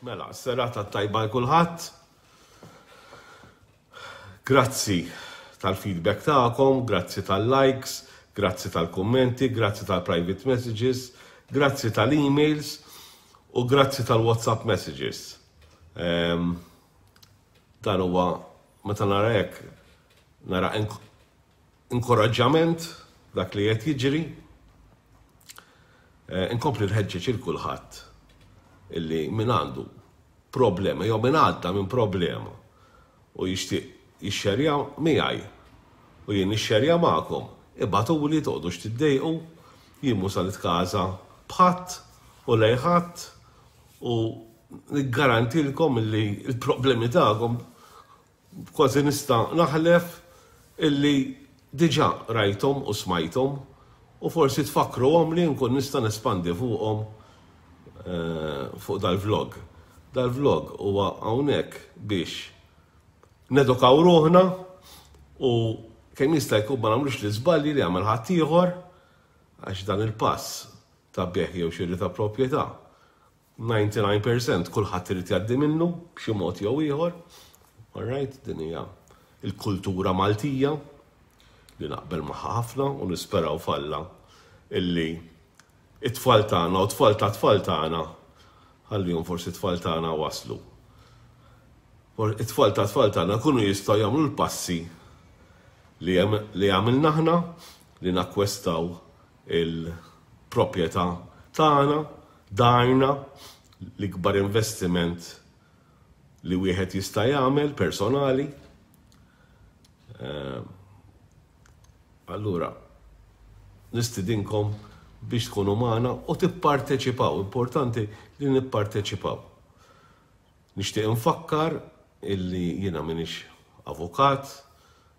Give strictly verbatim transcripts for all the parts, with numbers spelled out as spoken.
Mela, serata tajba 'l kulħadd. Grazzi tal-feedback tagħkom, grazzi tal-likes, grazzi tal-kummenti, grazzi tal-private messages, grazzi tal-emails u grazzi tal-WhatsApp messages. Um, dan huwa meta nara hekk nara inkoraġġament dak li qed jiġri. Eh, inkompli nħeġġeġ lil kulħadd illi min għandu problema jew min għadda minn problema u jixtieq jixxerja miegħi u jien nixxerja magħkom, ibagħtuli, toqgħodux tiddejqu, jien mhux sa nitkaża b'ħadd u lejn ħadd u niggarantilkom illi il-problemi tagħkom kważi nista' naħlef illi diġà rajthom u smajthom u forsi tfakkruhom li nkun nista' nespandi fuqhom eh, fuq dal-vlog. Dal-vlog huwa hawnhekk biex nedukaw ruħna u kemm jista' jkun ma nagħmlux l-iżbalji li għamel ħaddieħor, għax dan il-pass ta' bejgħ jew xiri ta' proprjetà disgħa u disgħin fil-mija kulħadd irid jgħaddi minnu b'xi mod jew ieħor. All right, din hija il-kultura Maltija li naqbel magħha ħafna u nisperaw f'Alla illi it-tfal tagħna u tfal ta' tfal tagħna, ħallihom forsi tfal tagħna waslu. It-tfal ta' tfal tagħna kunu jistgħu jagħmlu l-passi li li għamilna aħna li nakkwistaw il-proprjetà tagħna, darna, l-ikbar investiment li wieħed jista' jagħmel personali. Eh, allura, nistidinkom biex tkunu magħna u tipparteċipaw. Importanti li nipparteċipaw. Nixtieq infakkar illi jiena minix avukat,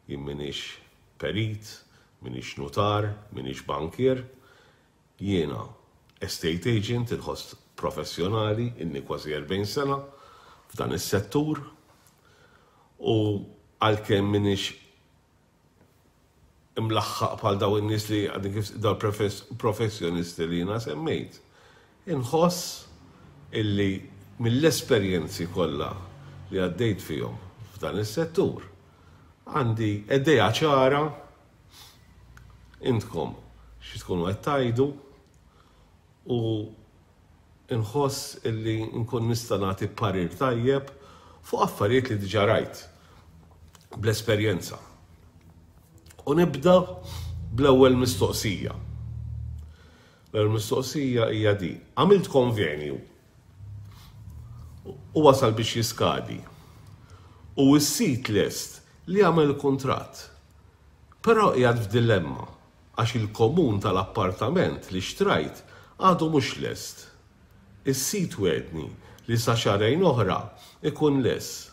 jien minix perit, minix notar, minix bankier, jiena estate agent, il-ħost professjonali, inni kważi erbgħin sena f'dan is-settur u għalkemm minix imlaħħaq bħal daw in-nies li għadni kif daw professjonisti li jiena semmejt, inħoss illi mill-esperjenzi kollha li għaddejt fihom f'dan is-settur għandi idea ċara intkom xi tkunu qed tgħidu u nħoss illi nkun nista' nagħti parir tajjeb fuq affarijiet li diġà rajt bl-esperjenza. U nibda bl-ewwel mistoqsija. L-ewwel mistoqsija hija di: għamilt konvenju u wasal biex jiskadi. U s-sid lest li għamel kuntratt. Però qiegħed f'dilemma għax il-komun tal-appartament li xtrajt għadu mhux lest. Is-sid wegħedni li sa xahrejn oħra ikun lest.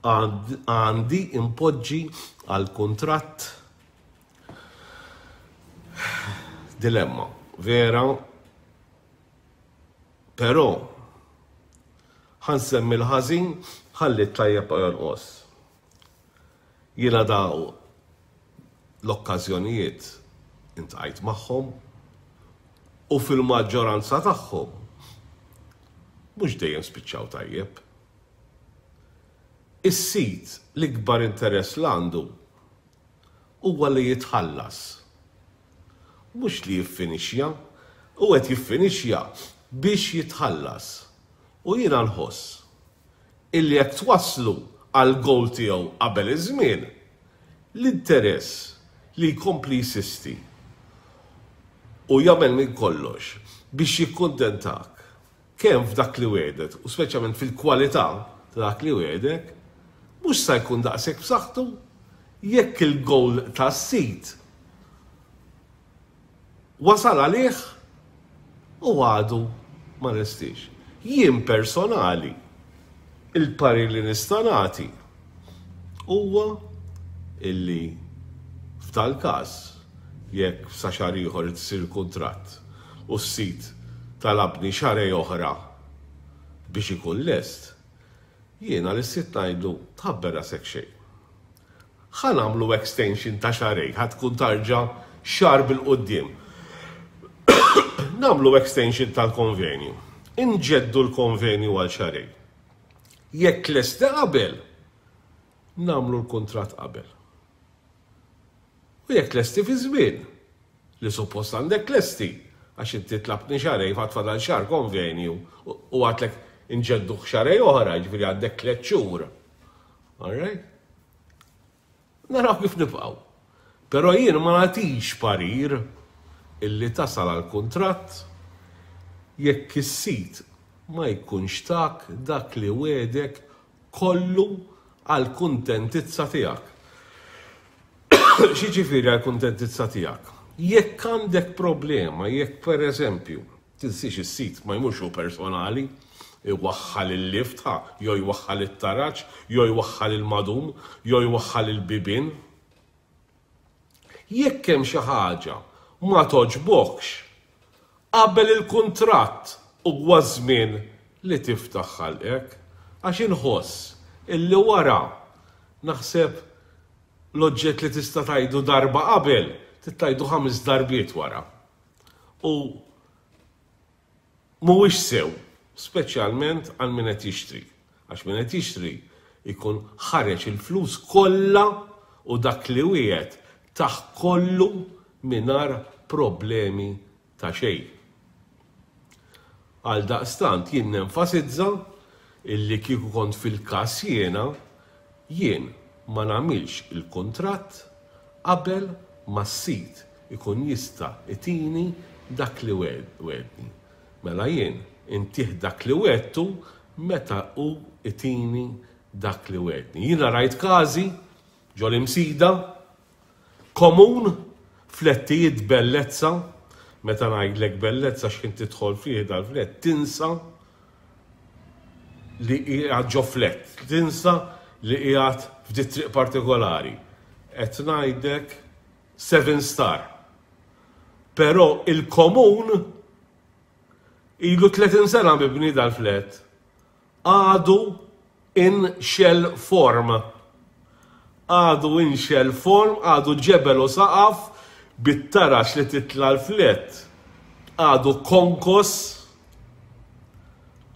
Għandi impoġġi għal kuntratt? Dilemma, vera, però ħa nsemmi l-ħażin ħalli t-tajjeb ma jonqos. Jiena daw l-okkażjonijiet iltqajt magħhom u fil-maġġoranza tagħhom mhux dejjem spiċċaw tajjeb. Is-sid l-ikbar interess l għandu huwa li jitħallas. Mhux li jiffinixja, u qed jiffinixja biex jitħallas. U jiena nħoss illi jekk twasslu għal goal tiegħu qabel iż-żmien, l-interess li jkompli jinsisti u jagħmel minn kollox biex jikkuntentak kemm f'dak li wegħdek u speċjalment fil-kwalità ta' dak li wegħdek mhux sa jkun daqshekk b'saħħtu jekk il-goal tas-sid wasal għalih u għadu ma lestiex. Jien personali il-parir li nista' nagħti huwa illi f'tal każ, jekk sa xahar ieħor isir kuntratt u s-sid talabni xahrejn oħra biex ikun lest, jiena lis-sid ngħidlu: "Tħabbar rasek xejn. Ħa nagħmlu extension ta' xahrejn, ħa tkun tarġa' xahar bil-quddiem. Nagħmlu extension tal-konvenju. Inġeddu l-konvenju għal xahrejn. Jekk lesti qabel, nagħmlu l-kuntratt qabel. U jekk lesti fi żmien, li suppost għandek lesti, għax inti tlabtni xahrejn għad fadal xahar konvenju u għedtlek inġeddu xahrejn oħra, ġifieri għandek tliet xhur. All right? Naraw kif nibqgħu. Però jien ma nagħtix parir illi tasal għal kuntratt jekk is-sid ma jkunx tak dak li wegħdek kollu għal kuntentizza tiegħek. X'jiġifieri għal kuntentizza tiegħek? Jekk għandek problema, jekk per eżempju, tinsiex is-sid ma jmurx hu personali, iwaħħal il-lift, ha, jew jwaħħal it-taraġ, jew jwaħħal il-madum, jew jwaħħal il-bibien. Jekk hemm xi ħaġa ma togħġbokx, qabel il-kuntratt huwa żmien li tiftaħ ħalqek, għax inħoss illi wara naħseb l-oġġett li tista' tgħidu darba qabel, tgħidu ħames darbiet wara. U mhuwiex sew, speċjalment għal min qed jixtri. Għax min qed jixtri jkun ħareġ il-flus kollha u dak li wieħed taħ kollu mingħajr problemi ta' xejn. Għal daqstant jien nenfasizza illi kieku kont fil-każ jiena, jien ma nagħmilx il-kuntratt qabel ma s-sid ikun jista' itini dak li wegħedni. Mela jien intih dak li wegħedtu meta hu itini dak li wegħedni. Jiena rajt każi ġol Imsida, komun, flettijiet bellezza, meta ngħidlek bellezza x'ħin tidħol fih dal-flett, tinsa li qiegħed ġo flett, tinsa li qiegħed f'di triq partikolari. Qed ngħidlek seven star. Però il-komun ilu tletin sena mibni dal-flett, għadu in shell form. Għadu in shell form, għadu ġebel u saqaf, bit-taraġ li titla l-flett, għadu konkos,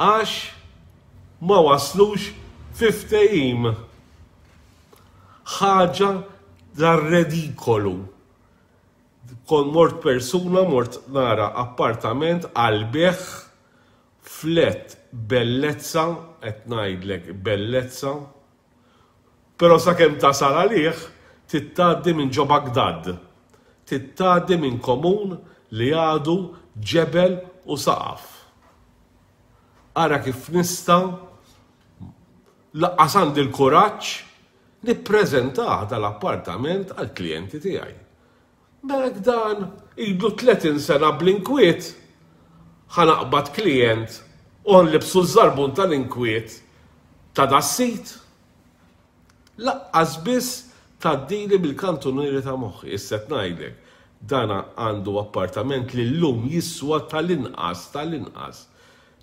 għax ma waslux fi ftehim. Ħaġa dar-redikolu. Kon mort persuna, mort nara appartament għal-bejgħ, flett bellezza, qed ngħidlek bellezza, però sakemm tasal għalih, tgħaddi minn ġo Bagdad, tgħaddi minn komun li għadu ġebel u saqaf. Ara kif nista' lanqas għandi l-kuraġġ nippreżentah dal-appartament għall-klijenti tiegħi. Mela dan ilu tletin sena bl-inkwiet, ħa naqbad klijent u nlibbsu ż-żarbun tal-inkwiet ta' das-sid. Lanqas biss tgħaddili bil-kantunieri ta' moħħi. Issa qed ngħidlek, dana għandu appartament li llum jiswa tal-inqas, tal-inqas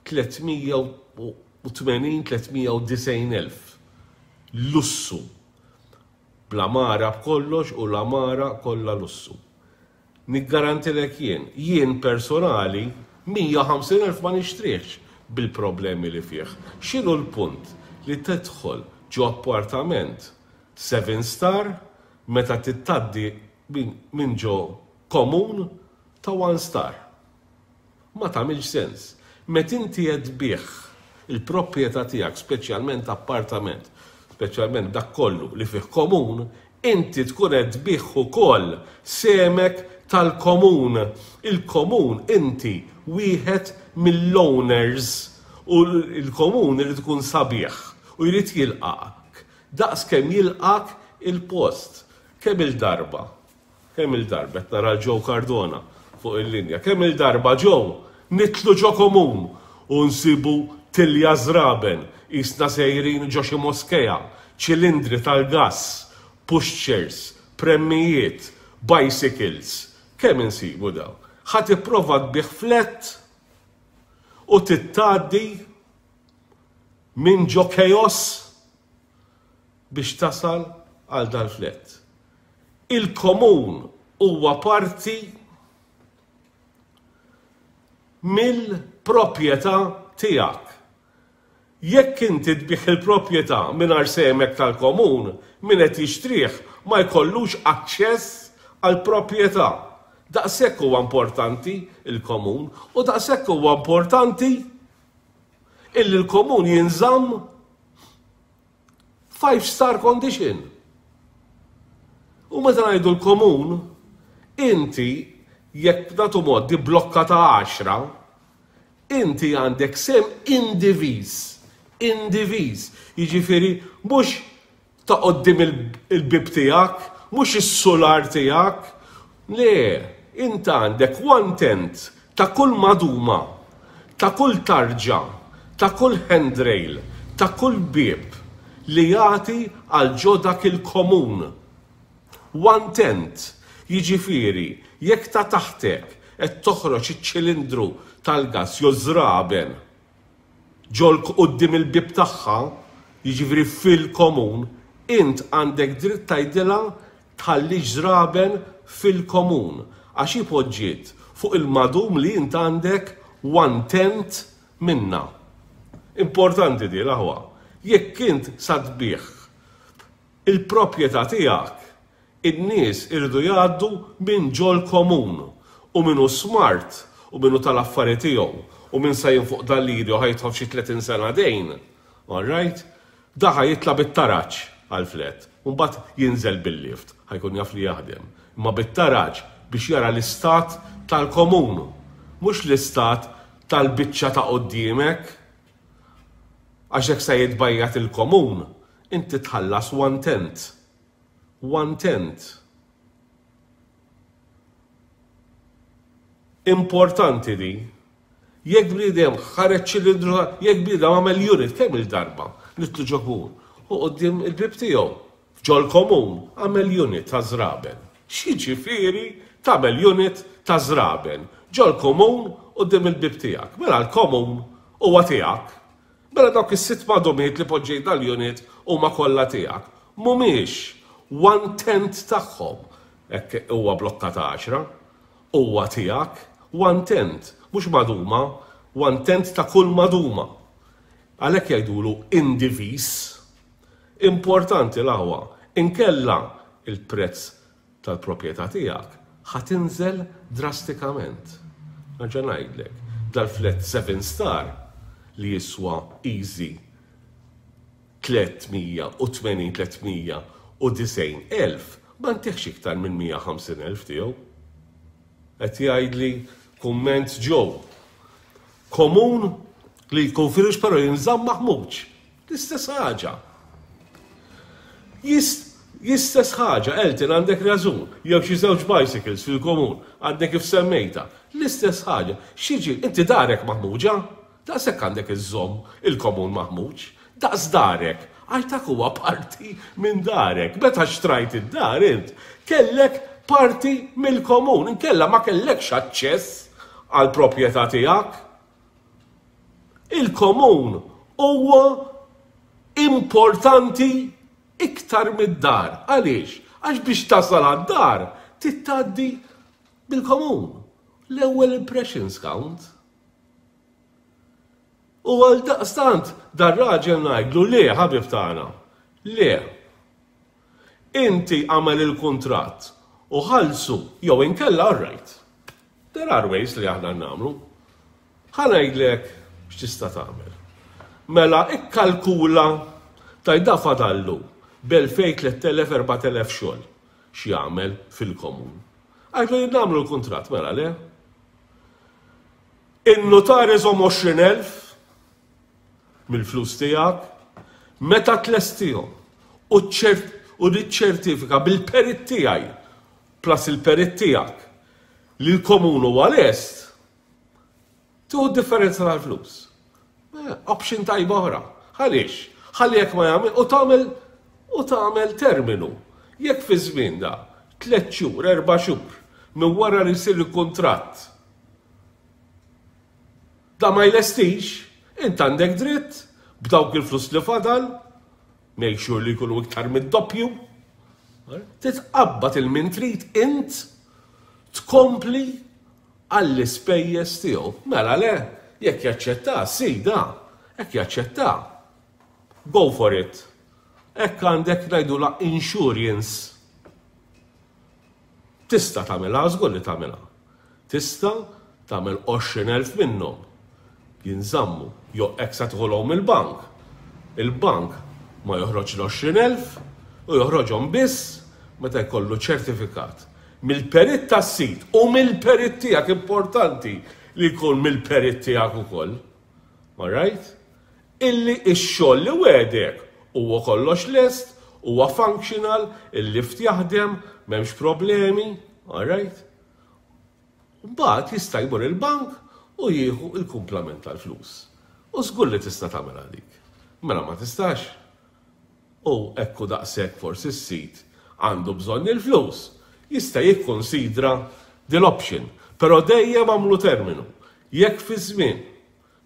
tliet mija u tmenin, tliet mija u disgħin elf. Lussu. Bl-għamara b'kollox u l-għamara kollha lussu. Niggarantilek jien, jien personali mija u ħamsin elf ma nixtrihx bil-problemi li fih. X'inhu l-punt li tidħol ġo appartament seven star meta tgħaddi minn ġo komun ta' one star? Ma tagħmilx sens. Meta inti qed tbigħ il-proprjetà tiegħek, speċjalment appartament, speċjalment dak kollu li fih komun, inti tkun qed tbigħ ukoll semek tal-komun. Il-komun inti wieħed mill-owners u l-komun irid ikun sabiħ u jrid jilqak. Daqs kemm jilqak il-post. Kemm il-darba? Kemm il-darba? Qed nara Joe Cardona fuq il-linja. Kemm il-darba Joe nidħlu ġo komun u nsibu tilja żraben, isna sejrin ġo xi moskeja, ċilindri tal-gass, pushchairs, premmijiet, bicycles. Kemm insibu daw? Ħa tipprova tbigħ flett u tgħaddi minn ġo chaos biex tasal għal dal-flett. Il-komun huwa parti mill-proprjetà tiegħek. Jekk inti tbigħ il-proprjetà mingħajr semek tal-komun, min qed jixtrih ma jkollux aċċess għall-proprjetà. Daqshekk huwa importanti il-komun u daqshekk huwa importanti illi l-komun jinżamm five star condition. U meta ngħidu l-komun, inti jekk nagħtu mod di blokka ta' għaxra, inti għandek sehem indiviż, indiviż, jiġifieri mhux ta' quddiem il-bib tiegħek, mhux is-solar tiegħek, le, inti għandek one tenth ta' kull maduma, ta' kull tarġa, ta' kull handrail, ta' kull bib li jagħti għal ġo dak il-komun. One tenth, jiġifieri, jekk ta' taħtek qed toħroġ iċ-ċilindru tal-gas jew żraben ġol quddiem il-bib tagħha, jiġifieri fil-komun, int għandek dritt tgħidilha tħallix żraben fil-komun, għax ipoġġiet fuq il-madum li int għandek one tenth minna. Importanti di l-aħwa. Jekk int sa tbigħ il-proprjetà tiegħek, in-nies iridu jgħaddu minn ġol komun u minnu smart u minnu tal-affari tiegħu u minn sa fuq dal-liri u ħa jidħol xi tletin sena dejn. All right? Da ħa jitla' bit-taraġ għal-flat. Mbagħad jinżel bil-lift, ħa jkun jaf li jaħdem. Imma bit-taraġ biex jara l-istat tal-komun, mhux l-istat tal-biċċa ta' qoddiemek. Għax jekk se jitbajjat il-komun, inti tħallas one tenth. One tenth. Importanti di. Jekk bniedem ħareġ ċilindru, jekk bniedem għamel unit kemm il-darba nitlu ġo komun u quddiem il-bib tiegħu ġol komun għamel unit ta' żraben. X'jiġifieri tagħmel unit ta' żraben ġol komun quddiem il-bib tiegħek? Mela l-komun huwa tiegħek. Mela dawk is-sitt madumiet li poġġejt dal-unit huma kollha tiegħek. Mhumiex one tenth tagħhom, hekk huwa blokka ta' għaxra, huwa tiegħek one tenth, mhux maduma, one tenth ta' kull maduma. Għalhekk jgħidulu indivis. Importanti l-aħwa, inkella il-prezz tal-proprjetà tiegħek ħa tinżel drastikament. Nerġa' ngħidlek, dal-flat seven star li jiswa easy tliet mija u tmenin, tliet mija u disgħin elf, ma ntiħx iktar minn mija ħamsin elf tiegħu. Qed jgħidli kumment ġew. Komun li jkun firux però jinżamm maħmuġ. L-istess ħaġa. L-istess ħaġa, Elton, għandek raġun, jew xi żewġ bicycles fil-komun, għandek kif semmejta. L-istess ħaġa. X'jiġi, inti darek maħmuġa? Daqshekk għandek iżżomm il-komun maħmuġ. Daqs darek, għax dak huwa parti minn darek. Meta xtrajt id-dar int, kellek parti mill-komun, inkella ma kellekx aċċess għall-proprjetà tiegħek. Il-komun huwa importanti iktar mid-dar. Għaliex? Għax biex tasal għad-dar titgħaddi bil-komun. L-ewwel impressions count. U għal daqstant dar-raġel ngħidlu le, ħabib tagħna, le. Inti għamel il-kuntratt u ħallsu jew inkella all right. There are ways li aħna nagħmlu. Ħa ngħidlek x'tista' tagħmel. Mela ikkalkula tajda fadallu b'elfejn, tliet elef, erbat elef xogħol x'jagħmel fil-komun. Għidlu jien nagħmlu l-kuntratt, mela le. In-notar iżomm għoxrin elf mill-flus tiegħek meta tlestihom u ċert-, u niċċertifika bil-perit tiegħi plus il-perit tiegħek li l-komun huwa lest, tieħu d-differenza tal-flus. Eh, option tajba oħra. Għaliex? Ħalli jekk ma jagħmel u tagħmel u tagħmel terminu. Jekk fi żmien da tliet xhur, erba' xhur minn wara li jsir il-kuntratt da ma jlestix, int għandek dritt b'dawk il-flus li fadal, make sure li jkunu iktar mid-doppju, titqabbad il-min trid int tkompli għall-ispejjeż tiegħu. Mela le, Jekk jaċċetta, sida, jekk jaċċetta, go for it. Hekk għandek ngħidula insurance. Tista' tagħmilha, żgur li tagħmilha. Tista' tagħmel għoxrin elf minnhom. Jinżammu, jew hekk sa tieħulhom il-bank. Il-bank ma joħroġ l-għoxrin elf u joħroġhom biss meta jkollu ċertifikat mill-perit tas-sit u mill-perit tiegħek. Importanti li jkun mill-perit tiegħek ukoll. All right? Illi x-xogħol li wegħdek huwa kollox lest, huwa functional, il-lift jaħdem, m'hemmx problemi, all right? Mbagħad jista' jmur il-bank u jieħu il-kumplament tal-flus. U żgur li tista' tagħmel dik. Mela ma tistax. U ekku daqshekk forsi s-sit għandu bżonn il-flus. Jista' jikkonsidra dil-option, però dejjem għamlu terminu. Jekk fi żmien,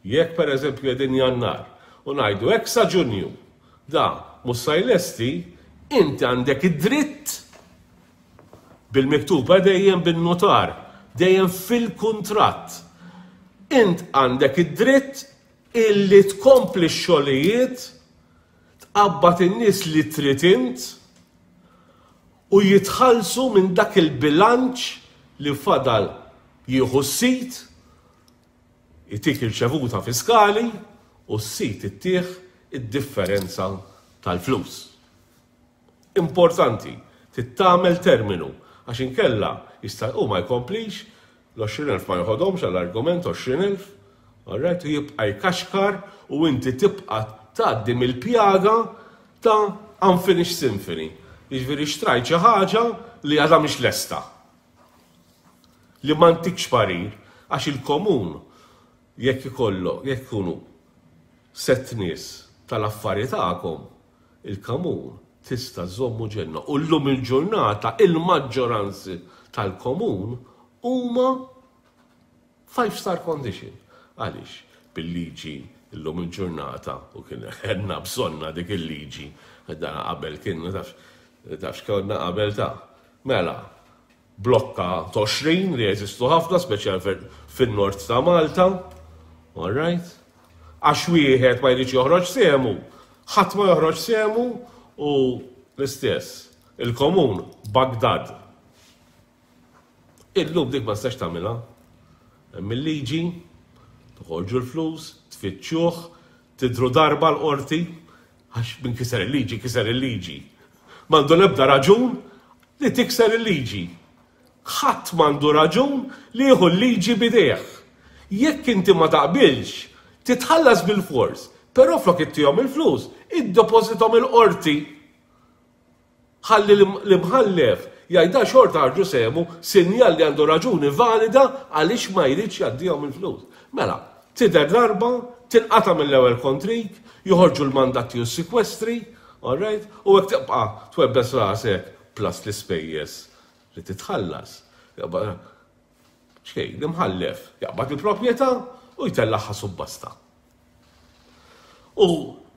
jekk per eżempju qegħdin Jannar u ngħidu hekk sa Ġunju, da mhux sa jlesti, inti għandek id-dritt bil-miktuba, dejjem bin-notar, dejjem fil-kuntratt. Int għandek id-dritt illi tkompli x-xogħlijiet, tqabbad in-nies li trid int u jitħallsu minn dak il-bilanċ li fadal. Jieħu s-sit, jtik irċevuta fiskali u s-sit ittih id-differenza tal-flus. Importanti, tagħmel terminu, għax inkella jista' u ma jkomplix, l-għoxrin elf ma joħodhomx għall-argument għoxrin elf, alright, u jibqa' jkaxkar u inti tibqa' tgħaddi mill-pjaga ta' unfinished symphony. Jiġifieri xtrajt xi ħaġa li għadha mhix lesta. Li ma ntikx parir għax il-komun jekk ikollu, jekk ikunu sett nies tal-affari tagħkom, il-komun tista' żommu ġenna. U llum il-ġurnata il-maġġoranzi tal-komun huma five star condition. Għaliex? Bil-liġi illum il-ġurnata, u kien għandna bżonnha dik il-liġi, dan qabel kien, taf, taf x'konna qabel ta' mela, blokka għoxrin li jeżistu ħafna, speċjal fin-nord ta' Malta, all right? Għax wieħed ma jridx joħroġ sehmu, ħadd ma joħroġ sehmu u l-istess, il-komun Bagdad. Illum dik ma tistax tagħmilha. Hemm il-liġi, toħorġu l-flus, tfittxuh, tidru darba l-qorti, għax min kiser il-liġi, kiser il-liġi. M'għandu l-ebda raġun li tikser il-liġi. Ħadd m'għandu raġun li jieħu l-liġi b'idejh. Jekk inti ma taqbilx, titħallas bil-fors, però flok ittihom il-flus, iddepożithom il-qorti. Ħalli l-imħallef jgħidha xorta ħarġu sehmu, sinjal li għandu raġuni valida għaliex ma jridx jgħaddihom il-flus. Mela, tidher darba, tinqata mill-ewwel kontrik, joħorġu l-mandati u s-sekwestri, all right? U hekk tibqa' twebbes rasek plus l-ispejjeż li titħallas. Xejn, l-imħallef jaqbad il-proprjetà u jtellagħha subbasta. U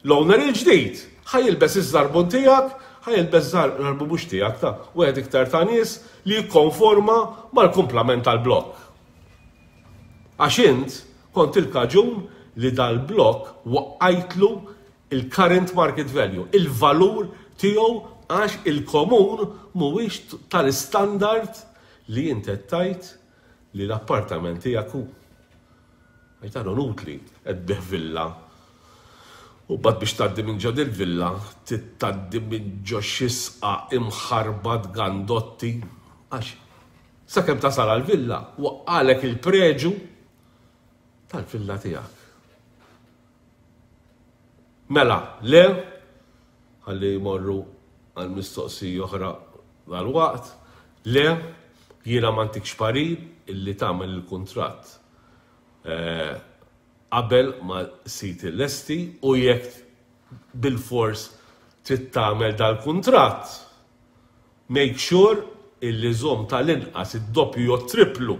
l-owner il-ġdid ħa jilbes iż-żarbun tiegħek, ħa jilbes żarbun mhux tiegħek ta' wieħed iktar ta' nies li jikkonforma mal-kumplament tal-blokk. Għax int kont il-kaġun li dal-blokk waqqajtlu il-current market value, il-valur tiegħu, għax il-komun mhuwiex tal-standard li int qed tgħid li l-appartament tiegħek hu. Għajtalu nutli qed tbigħ villa. U mbagħad biex tgħaddi minn ġo dil-villa, tgħaddi minn ġo xi sqaq imħarbat gandotti, għax sakemm tasal għal-villa, waqqalek il-preġu tal-villa tiegħek. Mela, le, ħalli jmorru għal mistoqsija oħra dal-waqt, le, jiena ma ntikx parir illi tagħmel il-kuntratt eh, qabel ma sit il-lesti u jekk bil-fors trid tagħmel dal-kuntratt, make sure illi żomm tal-inqas id-doppju jew triplu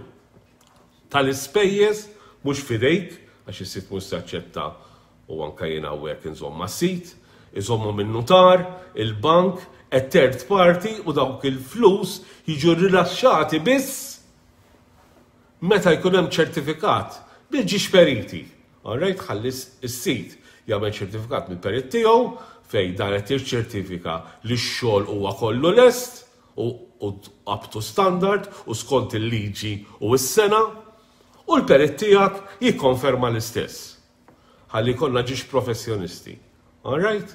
tal-ispejjeż mhux fidejk, għax is-sit mhux jaċċetta u anka jien hawnhekk inżomm mas-sit, iżommu minn notar, il-bank, a third party, u dawk il-flus jiġu rilaxxati biss meta jkun hemm ċertifikat bil-ġiex periti. Alright, ħalli s-sid jagħmel ċertifikat mill-perit tiegħu fejn dan qed jiċċertifika li x-xogħol huwa kollu lest u up to standard u skont il-liġi u s-sengħa, u l-perit tiegħek jikkonferma l-istess. Ħalli jkollna ġiex professjonisti. Alright?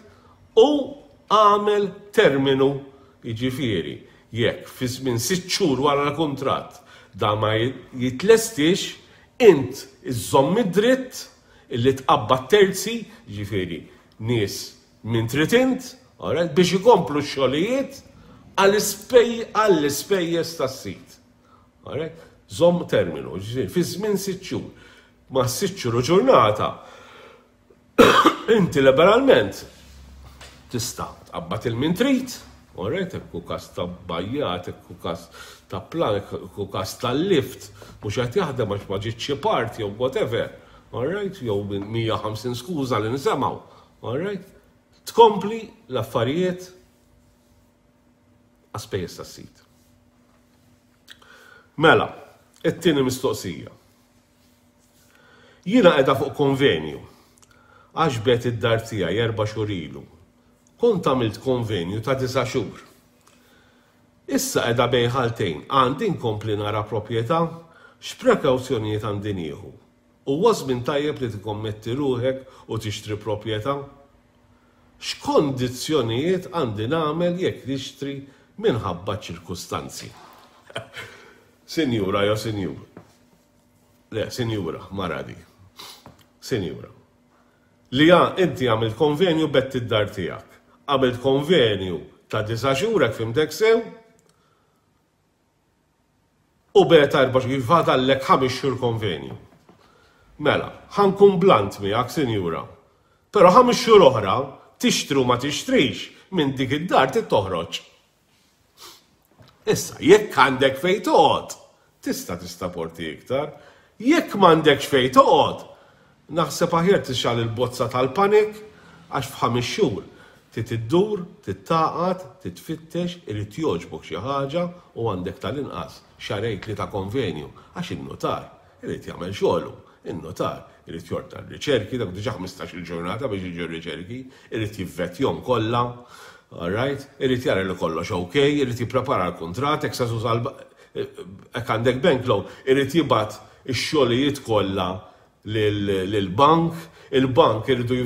U għamel terminu, jiġifieri, jekk fi żmien sitt xhur wara l-kuntratt da ma jitlestix, int iżżomm id-dritt illi tqabbad terzi, ġifieri nies minn trid int, alright, biex ikomplu x-xogħlijiet għall-ispejjeż tas-sid. Alright? Żomm terminu, ġifieri fi żmien sitt xhur. Ma sitt xhur u ġurnata, inti liberalment tista' tqabbad il-min trid, alright, jekk hu każ ta' bajjat, jekk hu każ ta' plan, jekk hu każ tal-lift, mhux qed jaħdem għax ma ġietx xi part jew whatever, alright, jew minn mija u ħamsin skuża li nisimgħu, alright, tkompli l-affarijiet għas-spejjeż tas-sid. Mela, it-tieni mistoqsija. Jiena qiegħda fuq konvenju għax bet id-dar tiegħi erba' xhur ilu. Kont għamilt konvenju ta' disa' xhur. Issa qiegħda bejn ħaltejn, għandi nkompli nara proprjetà, x'prekawzjonijiet għandi nieħu? Huwa żmien tajjeb li tikkommetti ruħek u tixtri proprjetà? X'kondizzjonijiet għandi nagħmel jekk nixtri minħabba ċirkustanzi? Sinjura jew sinjur? Le, sinjura, mara di. Sinjura. Li inti għamilt konvenju bett id-dar tiegħek. Għamilt konvenju ta' disa' xhur, hekk fimtek sew, u beta erba' xhur, fadallek ħames xhur konvenju. Mela, ħa nkun blunt miegħek, sinjura. Però ħames xhur oħra, tixtru ma tixtrix, minn dik id-dar trid toħroġ. Issa, jekk għandek fejn toqgħod, tista' tistaporti iktar. Jekk m'għandekx fejn toqgħod, naħseb aħjar tixgħal il-bozza tal-panik, għax f'ħames xhur trid iddur, tittaqad, titfittex, irid jogħġbok xi ħaġa u għandek tal-inqas xahrejn tlieta konvenju, għax in-notar irid jagħmel xogħlu. In-notar irid jordna r-riċerki, dak diġà ħmistax-il ġurnata biex jiġu r-riċerki, irid jivvetjhom kollha, all right? Irid jara li kollox ok, irid jipprepara l-kuntratt, jekk se tuża jekk għandek bank loan, irid jibgħat ix-xogħlijiet kollha lill-bank, il-bank iridu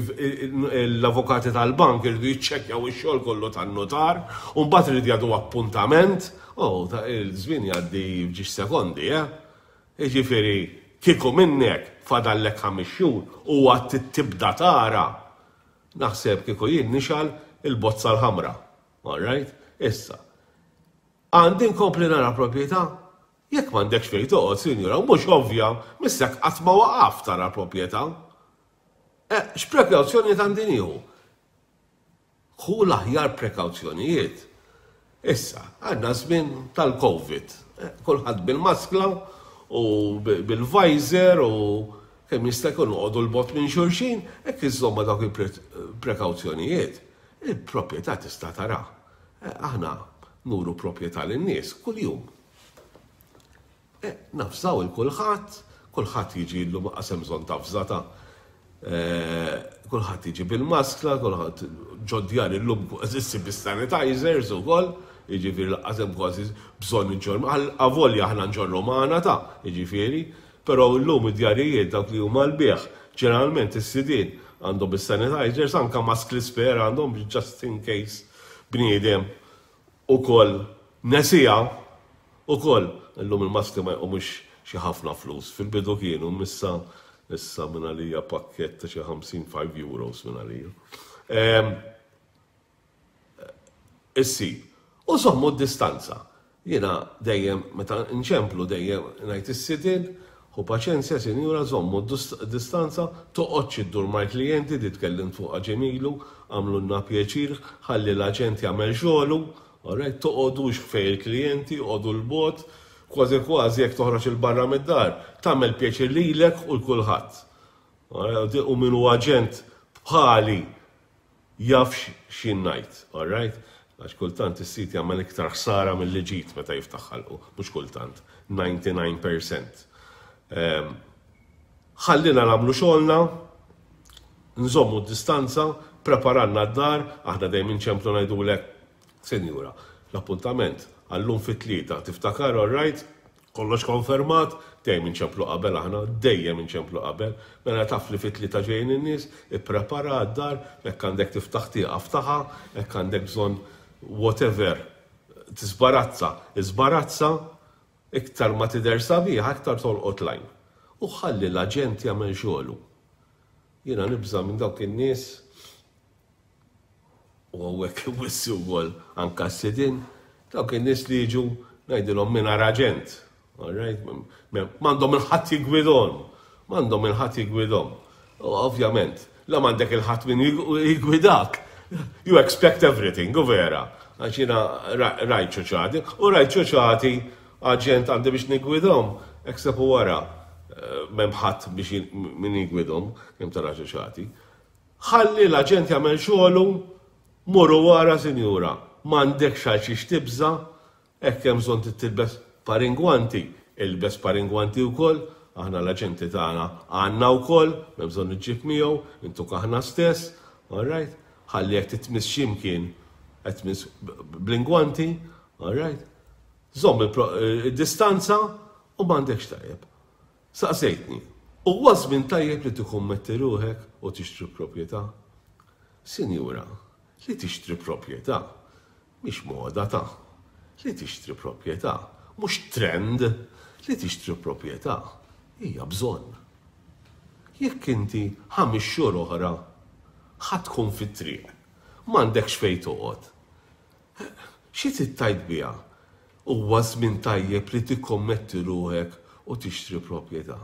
l-avukati tal-bank iridu jiċċekkjaw ix-xogħol kollu tan-notar, u mbagħad irid jagħtu appuntament, oh, il-żmien jgħaddi f'ġiex sekondi, eh? Jiġifieri, kieku minnek fadallek ħames xhur u għad tibda tara, naħseb kieku jien nixgħal il-bozza l-ħamra. All right? Issa, għandi nkompli nara proprjetà? Jekk m'għandekx fejn toqgħod, sinjura, mhux ovvja, missek qatt ma waqaf tara proprjetà. Eh, x'prekawzjonijiet għandi nieħu? Ħu l-aħjar prekawzjonijiet. Issa, għandna żmien tal-Covid. Eh, kulħadd bil-maskla u bil-visor u kemm jista' jkun noqogħdu l-bogħod minn xulxin, hekk iżomma dawk il-prekawzjonijiet. Il-proprjetà tista' tara. Eh, aħna nuru proprjetà lin-nies kuljum. Eh, nafżaw il-kulħadd, kulħadd jiġi llum qasem bżonn tafżata. Eh, kulħadd jiġi bil-maskla, kulħadd ġodjar illum kważi ssib bis-sanitizers ukoll, jiġifieri lanqas hemm kważi bżonn iġorr, avolja aħna nġorru magħna ta' jiġifieri, però llum id-djarijiet dawk li huma l-bieħ, ġeneralment is-sidien għandhom is-sanitizers, anka maskli spare għandhom just in case bniedem ukoll nesija ukoll. Illum il-maskli ma jqumux xi ħafna flus, fil-bidu kienu, missa issa minn għalija pakkett ta' xi ħamsin five euros minn għalija. Ehm, issi, u żommu d-distanza. Jiena dejjem, meta nċemplu dejjem ngħid is-sidien, ħu paċenzja, sinjura, żommu d-distanza, toqgħodx iddur mal-klijenti, di tkellimt fuqha ġemilu, għamlulna pjaċir, ħalli l-aġent jagħmel xogħlu, all right, toqgħodux fejn il-klijenti, oqogħdu l-bogħod, kważi kważi jekk toħroġ il-barra mid-dar, tagħmel pjaċir lilek u l-kulħadd. U min hu aġent bħali jaf x'jien ngħid, all right? Għax kultant is-sit jagħmel iktar ħsara milli ġid meta jiftaħ ħalqu, mhux kultant, ninety-nine percent. Ehm, Ħallina nagħmlu xogħolna, nżommu d-distanza, preparanna d-dar, aħna dejjem inċemplu ngħidulek, "Sinjura, l-appuntament għallum fit-tlieta, tiftakar, all right? Kollox konfermat?" Dejjem inċemplu qabel aħna, dejjem inċemplu qabel, mela taf li fit-tlieta ġejjin in-nies, ipprepara d-dar, jekk għandek tiftaħ tieqa ftaħha, jekk għandek bżonn whatever, tisbarazza, isbarazza, iktar ma tidher sabiħa, iktar tolqot l-għajn. U ħalli l-aġent jagħmel xogħlu. Jiena nibża' minn dawk in-nies u hawnhekk wissi wkoll anka s-sidin, dawk in-nies li jiġu ngħidilhom mingħajr aġent. All right? M'għandhom il-ħadd jigwidhom. M'għandhom il-ħadd jigwidhom. U ovvjament, la m'għandek il-ħadd min jigwidak. You expect everything, u vera. Għax jiena rajt ċuċati, u rajt ċuċati aġent għandi biex nigwidhom, except u wara eh, m'hemm ħadd biex min jigwidhom, kemm tara ċuċati. Ħalli l-aġent jagħmel xogħlu, morru wara, sinjura, m'għandekx għal xiex tibża, hekk hemm bżonn tilbes par ingwanti, ilbes par ingwanti wkoll, aħna l-aġenti tagħna għandna wkoll, m'hemm bżonn iġġib miegħu, intuk aħna stess, all right? Ħalli jekk titmiss x'imkien qed tmiss bl-ingwanti, all right? Żomm id-distanza u m'għandekx tajjeb. Saqsejtni, huwa żmien tajjeb li tikkommetti ruħek u tixtri proprjetà? Sinjura, li tixtri proprjetà mhix moda ta' li tixtri proprjetà, mhux trend, li tixtri proprjetà hija bżonn. Jekk inti ħames xhur oħra ħa tkun fit-triq, m'għandekx fejn toqgħod. Xi tittajt biha? Huwa żmien tajjeb li tikkommetti ruħek u tixtri proprjetà?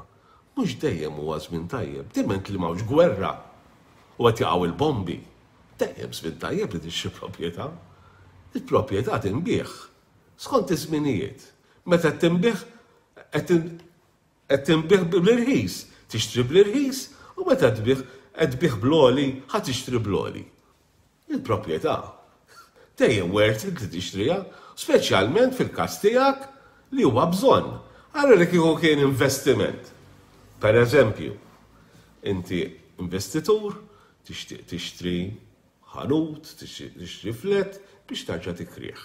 Mhux dejjem huwa żmien tajjeb, diment li m'hawnx gwerra u qed jaqgħu il-bombi. Dejjem żmien tajjeb li tixtri proprjetà. Il-proprjetà tinbiegħ skont iż-żminijiet. Meta tinbiegħ qed tinbiegħ bl-irħis, tixtri bl-irħis u meta tbigħ qed tbigħ bl-għoli, ħa tixtri bl-għoli. Il-proprjetà dejjem worth it li tixtriha, speċjalment fil-każ tiegħek li huwa bżonn. Għara li kieku kien investiment. Per eżempju, inti investitur, tixtieq tixtri ħanut, tixtri flat biex tarġa' tikrih.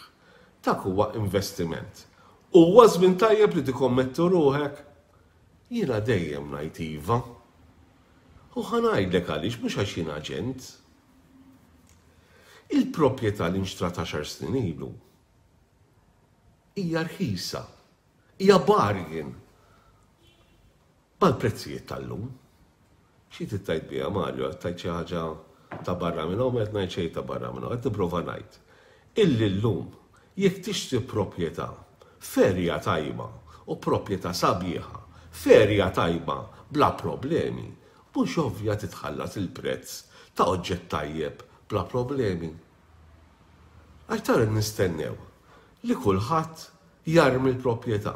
Dak huwa investiment. Huwa żmien tajjeb li tikkommettu ruħek? Jiena dejjem ngħid iva. U ħa ngħidlek għaliex, mhux għax jien aġent. Il-proprjetà li nxtrat għaxar snin ilu hija rħisa, hija bargain mal-prezzijiet tal-lum. Xi tittajt biha, Mario, tajt xi ħaġa ta' barra minn hawn, qed ngħid xejn ta' barra minn hawn, qed nipprova ngħid. Illi llum jekk tixtri proprjetà f'area tajba u proprjetà sabiħa, f'area tajba bla problemi, mhux ovvja titħallas il-prezz ta' oġġett tajjeb bla problemi? Għax tara nistennew li kulħadd jarmi l-proprjetà,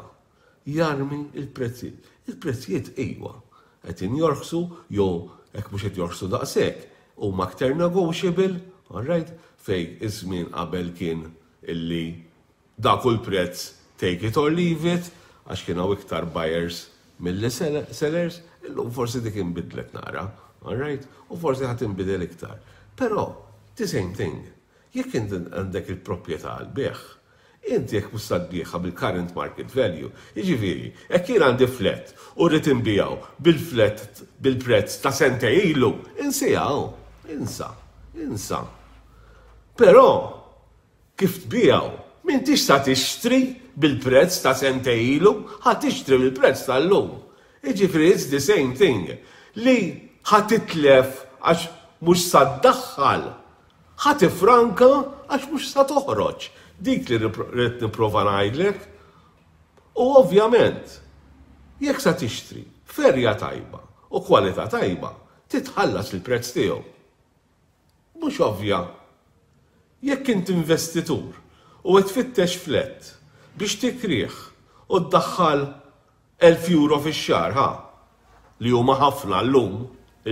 jarmi il-prezzijiet. Il-prezzijiet iwa, qed jorħsu jew hekk mhux qed jorħsu daqshekk, huma aktar negotiable, all right, fej iż-żmien qabel kien illi dak hu l-prezz, take it or leave it, għax kien hawn iktar buyers milli sellers, illum forsi dik inbidlet nara, all right, u forsi ħa tinbidel iktar. Però, the same thing, jekk inti għandek il-proprjetà għal-bejgħ, inti jekk mhux tbigħha bil-current market value, jiġifieri, jekk jien għandi flat u rrid inbigħu bil-flat bil-prezz ta' sentejn ilu, insijaw, insa, insa. Però, kif tbigħu, m'intix sa tixtri bil-prezz ta' sentejn ilu, ħa tixtri bil-prezz tal-lum. Jiġifieri, it's the same thing. Li ħa titlef għax mhux sa ddaħħal, ħa tifranka għax mhux sa toħroġ. Dik li rrid nipprova ngħidlek. U ovvjament, jekk sa tixtri f'area tajba u kwalità tajba, titħallas il-prezz tiegħu. Mhux ovvja? Jekk int investitur u qed tfittex flat biex tikrih u ddaħħal elf euro fix-xahar, ha, li huma ħafna llum,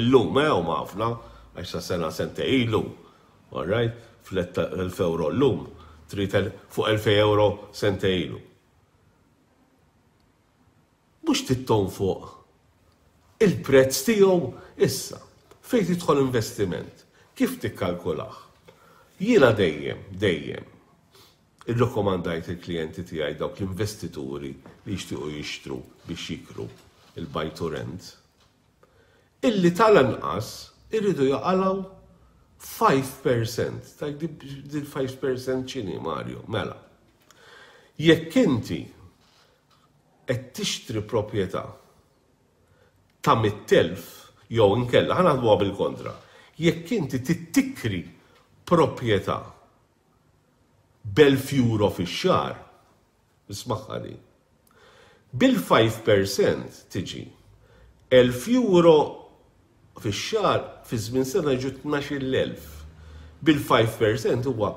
illum eh huma ħafna, għax sa sena sentejn ilu, all right, flat ta' elf euro llum, trid fuq elfejn euro sentejn ilu. Mhux titton fuq Il-prezz tiegħu issa fejn tidħol investiment, kif tikkalkulah? Jiena dejjem, dejjem, irrakkomandajt il-klijenti tiegħi, dawk l-investituri li jixtiequ jixtru biex jikru, il-buy to rent, illi tal-anqas irridu jaqalgħu five percent. Ta' dil five percent x'inhi, Mario? Mela. Jekk inti qed tixtri proprjetà ta' mitt elf jew inkella ħa naħdmuha bil-kontra. Jekk inti tikri proprjetà b'elf euro fix-xahar, ismagħha li, bil-five percent tiġi elf euro fix-xahar, fi żmien sena jiġu tnax-il elf. Bil-five percent huwa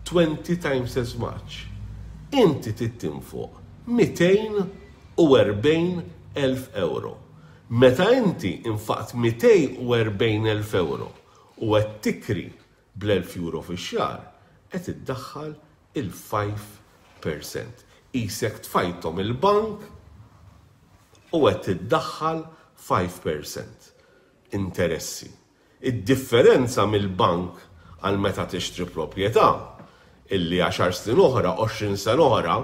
twenty times as much. Inti tinfoq mitejn u erbgħin elf euro. Meta inti infaqt mitejn u erbgħin elf euro u qed tikri bl-elf euro fix-xahar, qed iddaħħal il-five percent. Qisek tfajthom il-bank u qed tiddaħħal five percent interessi. Id-differenza mill-bank għal meta tixtri proprjetà illi għaxar snin oħra, għoxrin sena oħra,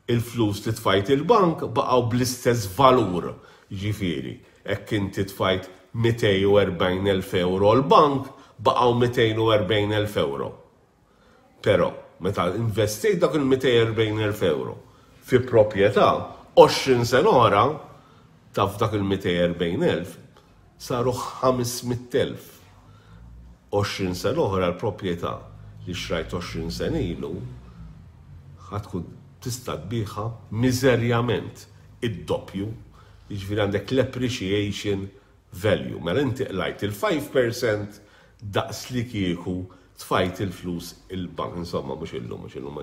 il-flus li tfajt il-bank baqgħu bl-istess valur. Ġifieri, jekk inti tfajt mitejn u erbgħin elf euro l-bank, baqgħu mitejn u erbgħin elf euro. Però, meta investejt dak il-mitejn u erbgħin elf euro fi proprjetà, għoxrin sena oħra, taf dak il-mitejn u erbgħin elf saru ħames mitt elf. għoxrin sena oħra, l-proprjetà li xrajt għoxrin sena ilu ħa tkun tista' tbigħha miżerjament id-doppju, jiġifieri għandek l-appreciation value. Mela inti qlajt il-five percent daqs li kieku tfajt il-flus il-bank, insomma, mhux illum, mhux illum,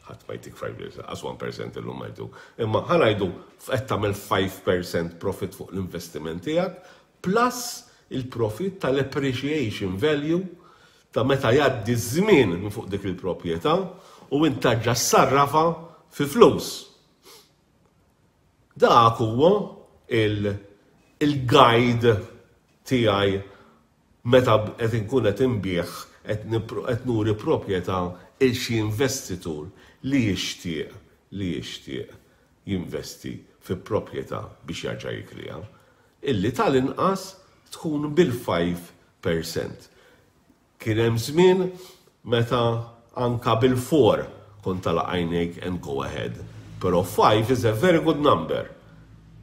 ħadd ma jtik five percent, għax one percent illum ma jtuk. Imma ħa ngħidu qed tagħmel five percent profit fuq l-investiment tiegħek plus il-profit tal-appreciation value ta' meta jgħaddi żmien minn fuq dik il-proprjetà u int terġa' ssarrafha fi flus. Dak huwa il-guide tiegħi meta qed inkun qed inbigħ, qed nuri proprjetà il xi investitur li jixtieq li jixtieq jinvesti fi proprjetà biex jarġa' jikriha, illi tal-inqas tkun bil-five percent. Kien hemm żmien meta anka bil-four kont tagħlaq għajnejk and go ahead. Però five is a very good number.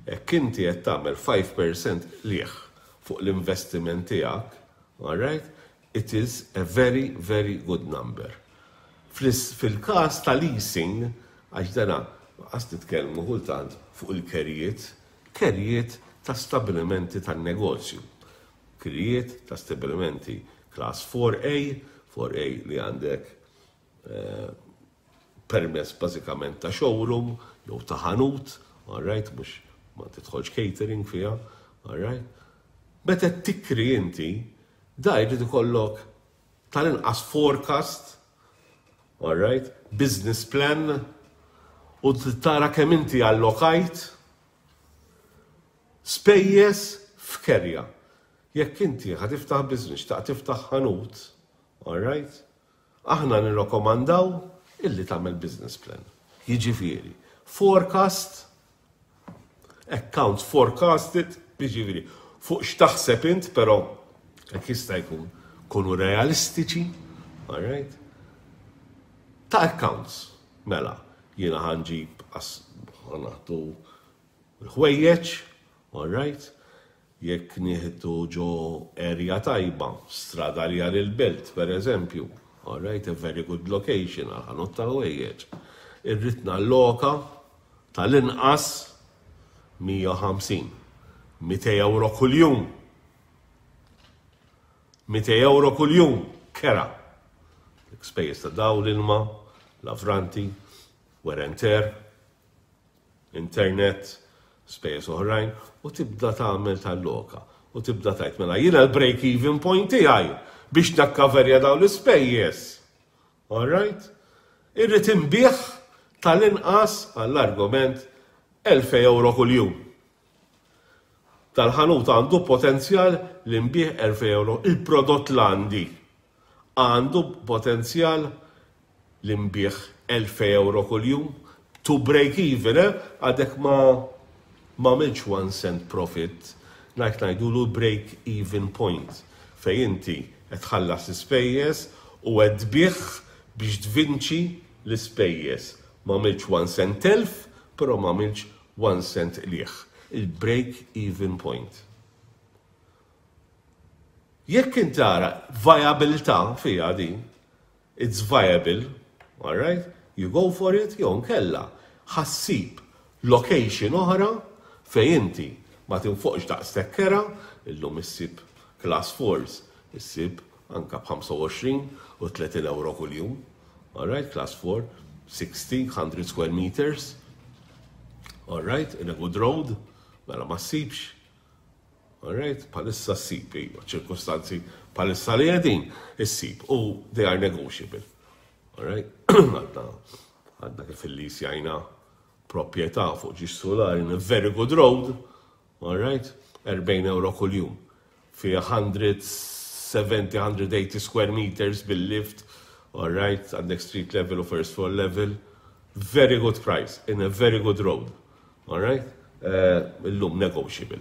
Jekk inti qed tagħmel five percent liħ fuq l-investiment tiegħek, all right, it is a very, very good number. Fil-każ ta' leasing, għax dana għas nitkellmu kultant fuq il-kerjiet, kerjiet ta' stabilimenti tan-negozju. Kirjiet ta' stabilimenti class four A, four A li għandek eh, permess bażikament ta' showroom jew ta' ħanut, all right, mhux ma tidħolx catering fiha, all right. Meta tikri inti, da jrid ikollok tal-inqas forecast, all right, business plan, u tara kemm inti allokajt spejjeż f'kerja. Jekk inti ħa tiftaħ business, ta' tiftaħ ħanut, all right, aħna nirrakkomandaw illi tagħmel business plan. Jiġifieri, forecast, accounts forecasted, jiġifieri, fuq x'taħseb int, però jekk jista' jkun kunu realistiċi, all right? Ta' accounts, mela, jiena ħa nġib ħa nieħdu ħwejjeġ, all right? Jekk nieħdu ġo area tajba, Strada Rjali l-Belt, per eżempju, all right, a very good location għal ħanut tal-ħwejjeġ. Irrid nalloka tal-inqas mija u ħamsin, mitejn euro kuljum. mitejn euro kuljum, kera. Spejjeż ta' dawl, ilma, lavranti, wear and tear, internet, spejjeż oħrajn, u tibda tagħmel tal-loka. U tibda tgħid, mela jiena l-break even point tiegħi biex nakkaverja dawn l-ispejjeż. All right? Irrid inbigħ tal-inqas, għall-argument, elfejn euro kuljum. Tal-ħanut għandu potenzjal li nbigħ elfejn euro. Il-prodott l-għandi għandu potenzjal li nbigħ elfejn euro kuljum to break even, eh? Għadek ma m'għamiltx one cent profit, ngħid ngħidulu break even point, fej inti qed tħallas l-ispejjeż u qed tbigħ biex tvinċi l-ispejjeż. M'għamiltx one cent telf, però m'għamiltx one cent qligħ. Il-break even point. Jekk inti tara viabilità fija din, it's viable, all right? You go for it, jew nkella ħa ssib location oħra fej inti ma tinfoqx daqshekk kera, illum issib class fours, issib anka b'ħamsa u għoxrin u tletin euro kuljum. All right, class four, sixty, one hundred square meters. All right, in a good road, mela ma ssibx. All right, bħalissa ssib, iva, ċirkostanzi bħalissa li qegħdin, issib, u they are negotiable. All right, għadna, għadna kif il-lisjajna proprjetà fuq żewġ sulari in a very good road, all right, erbgħin euro kuljum. Fi mija u sebgħin, mija u tmenin square meters bil-lift, all right, għandek street level u first floor level, very good price, in a very good road, all right, uh, illum negotiable.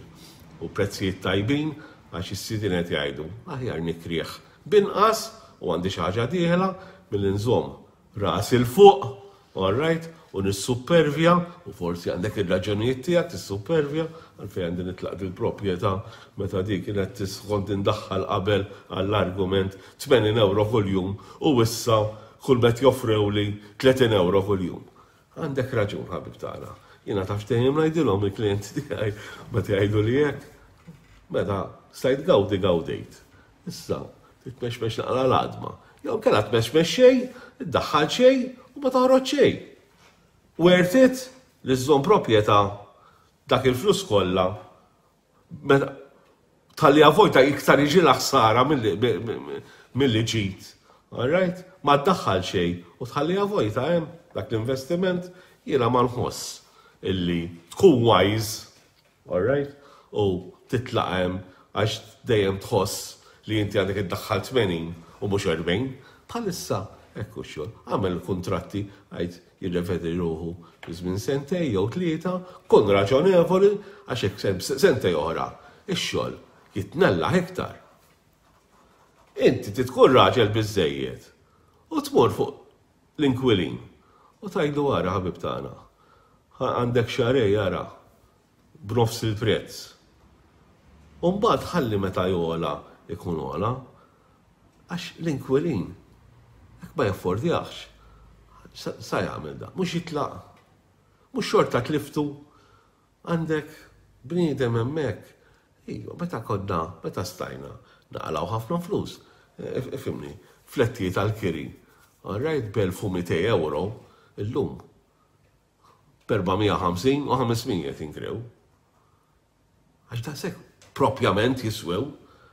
U prezzijiet tajbin, għax is-sidin qed jgħidu, aħjar nikrih binqas u għandi xi ħaġa dieħla milli nżomm ras 'il fuq, all right, u nissupervja, u forsi għandek ir-raġunijiet tiegħek tissupervja, għalfejn għandi nitlaq dil-proprjetà meta dik kienet kont indaħħal qabel, għall-argument, tmenin euro kuljum u issa kull met joffrew li tletin euro kuljum. Għandek raġun, ħabib tagħna. Jiena taf dejjem ngħidilhom il-klijenti tiegħi meta jgħidu li hekk. Meta stajt gawdi gawdejt. Issa, titmexmex naqra l-għadma. Jew kella tmexmex xejn, iddaħħal xejn u ma toħroġ xejn. Worth it li żżomm proprjetà dak il-flus kollha meta tal-li vojta iktar jiġi l-ħsara milli ġid. All right? Ma ddaħħal xejn u tħalliha vojta hemm dak l-investiment, jiena ma nħoss illi tkun wise, all right? U titlaq hemm għax dejjem tħoss li inti għandek iddaħħal tmenin u mhux erbgħin. Bħalissa hekk xogħol. Għamel kontratti, għid jirrevedi ruħu fi żmien sentej jew tlieta, kun raġonevoli, għax hekk sentej oħra ix-xogħol jitnella iktar. Inti titkun raġel biżejjed u tmur fuq l-inkwilin u tgħidlu, "Ara, ħabib tagħna, għandek xahrejn, ara, b'nofs il-prezz." U mbagħad ħalli meta jogħla ikun ogħla, għax l-inkwilin jekk ma jaffordjax, sa jagħmel da, mhux jitlaq. Mhux xorta tliftu, għandek bniedem hemmhekk. Iva, meta konna, meta stajna, naqilgħu ħafna flus. Ifhimni, flettijiet tal-kiri. All right, b'elf u mitejn euro, illum. B'erba' mija u ħamsin u ħames mija tinkrew. Għax da sekk propjament jiswew,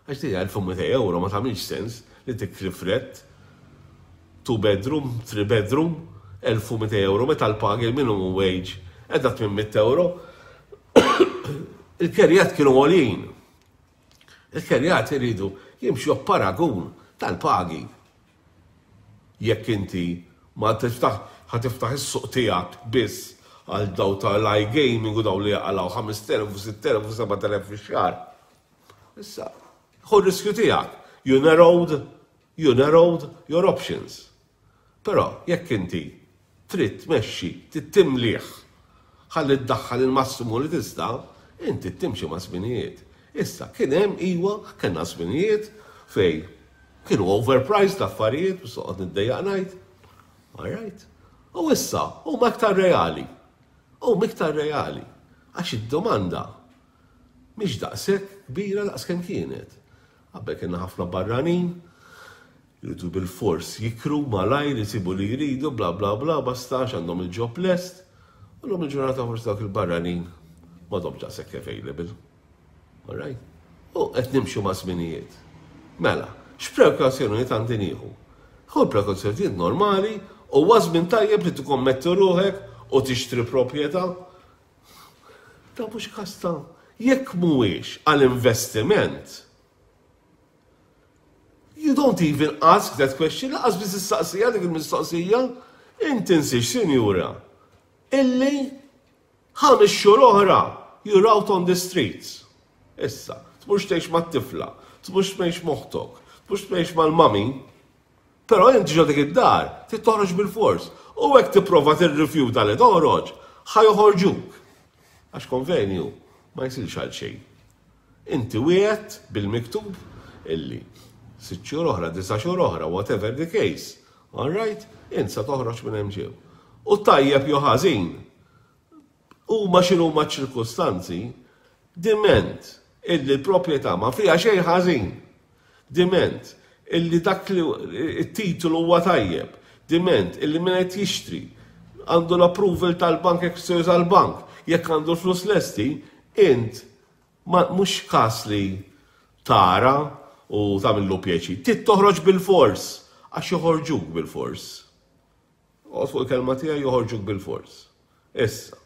għax di elf u mitejn euro ma tagħmilx sens li tikri flat, two bedroom, three bedroom, elf u mitejn euro meta l-pagi, il-minimum wage qiegħda tmien mitt euro. Il-kerjat kienu għolin. Il-kerjat iridu jimxu paragun tal-pagi. Jekk inti ma tiftaħ, ħa tiftaħ is-suq tiegħek biss għal daw tal-iGaming u daw li jaqilgħu ħamest elef u sitt elef u seba' elef fix-xahar. Issa, ħu riskju tiegħek. You narrowed, you narrowed your options. Però jekk inti trid tmexxi, trid timlieh, ħalli ddaħħal il-massimu li tista', inti timxi ma' żminijiet. Issa, kien hemm, iwa, kellna żminijiet fej kienu overpriced l-affarijiet, biex noqgħod niddejjaq ngħid. All right. U issa, huma iktar reali. Huma iktar reali. Għax id-domanda mhix daqshekk kbira daqs kemm kienet. Qabel kienna ħafna barranin, jridu bil-fors jikru malajr, jisibu li jridu, bla bla bla, basta għandhom il-job lest. U l il-ġurnata forsi dawk il-barranin m'għadhomx daqshekk available. All right? U qed nimxu ma' żminijiet. Mela, x'prekawzjonijiet għandi nieħu? Ħu prekawzjonijiet normali u żmien tajjeb li tikkommetti ruħek u tixtri proprjetà. Ta' mhux kasta. Jekk mhuwiex għall-investiment, you don't even ask that question, lanqas biss issaqsiha dik il-mistoqsija, inti tinsiex, sinjura, illi ħames xhur oħra you're out on the streets. Issa, tmurx tgħix mat-tifla, tmurx tgħix m'oħtok, tmurx tgħix mal-mami, però inti ġo dik id-dar, trid toħroġ bil-fors. U hekk tipprova tirrifjuta li toħroġ, ħa joħorġuk. Għax konvenju ma jsirx għal xejn. Inti wieħed bil-miktub illi sitt xhur oħra, disa' xhur oħra, whatever the case. All right? Int sa toħroġ minn hemm ġew. U tajjeb jew ħażin, huma x'inhuma ċirkustanzi, diment illi l-proprjetà ma fiha xejn ħażin. Diment illi dak li it-titolu huwa tajjeb, diment illi min qed jixtri għandu l-approval tal-bank jekk se juża l-bank, jekk għandu l-flus lesti, int ma mhux każ li tara u tagħmillu pjaċir. Trid toħroġ bil-fors, għax joħorġuk bil-fors. Oqgħod fuq il-kelma tiegħi, joħorġuk bil-fors. Issa,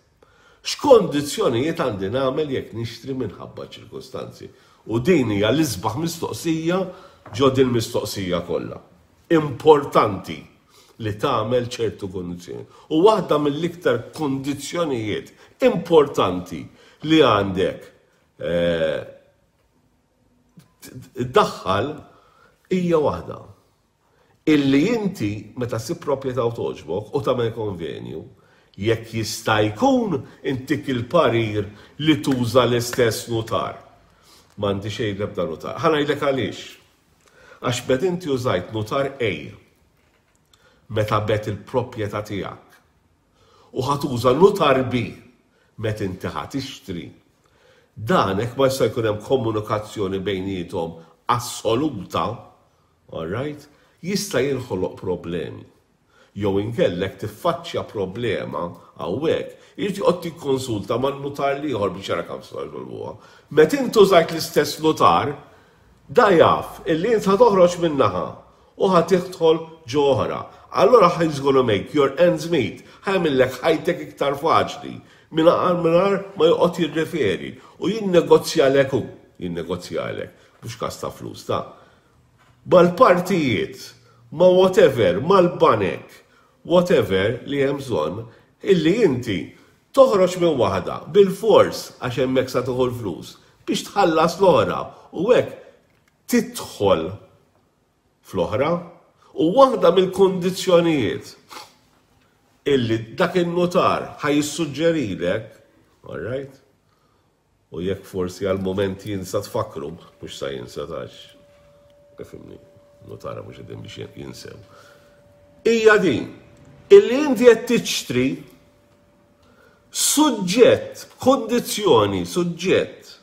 x'kondizzjonijiet għandi nagħmel jekk nixtri minħabba ċirkustanzi? U din hija l-isbaħ mistoqsija ġo din mistoqsija kollha. Importanti li tagħmel ċertu kondizzjoni. U waħda mill-iktar kondizzjonijiet importanti li għandek eh, iddaħħal hija waħda. Illi inti meta ssib proprjetà u togħġbok u tagħmel konvenju, jekk jista' jkun intik il-parir li tuża l-istess nutar. M'għandi xejn l-ebda nutar. Ħa ngħidlek għaliex. Għax meta inti użajt nutar A meta bigħt il-proprjetà tiegħek u ħa tuża nutar B meta inti ħa tixtri. Dan hekk ma jista' jkun hemm komunikazzjoni bejniethom assoluta, all right, jista' jinħoloq problemi. Jew inkellek tiffaċċja problema hawnhekk, irid joqgħod tikkonsulta man-nutar l-ieħor biex jara kemm solvuha. Meta inti użajt l-istess nutar, da jaf illi int ħa toħroġ min-naħa u ħa tidħol ġo oħra. Allora he's gonna make your ends meet, ħa jagħmillek ħajtek iktar faċli mingħajr mingħajr ma joqgħod jirreferi u jinnegozjalek hu, jinnegozjalek, mhux każ ta' flus ta' mal-partijiet, ma' whatever, mal-banek, whatever li hemm bżonn, illi inti toħroġ minn waħda bil-fors għax hemmhekk sa tieħu l-flus biex tħallas l-oħra u hekk tidħol fl-oħra. U waħda mill-kondizzjonijiet illi dak il-notar ħa jissuġġerilek, all right? U jekk forsi għal moment jinsa tfakru, mhux sa jinsa tax. Ifhimni, notara mhux qegħdin biex jinsew. Hija din, illi inti qed tixtri suġġett, kondizzjoni, suġġett,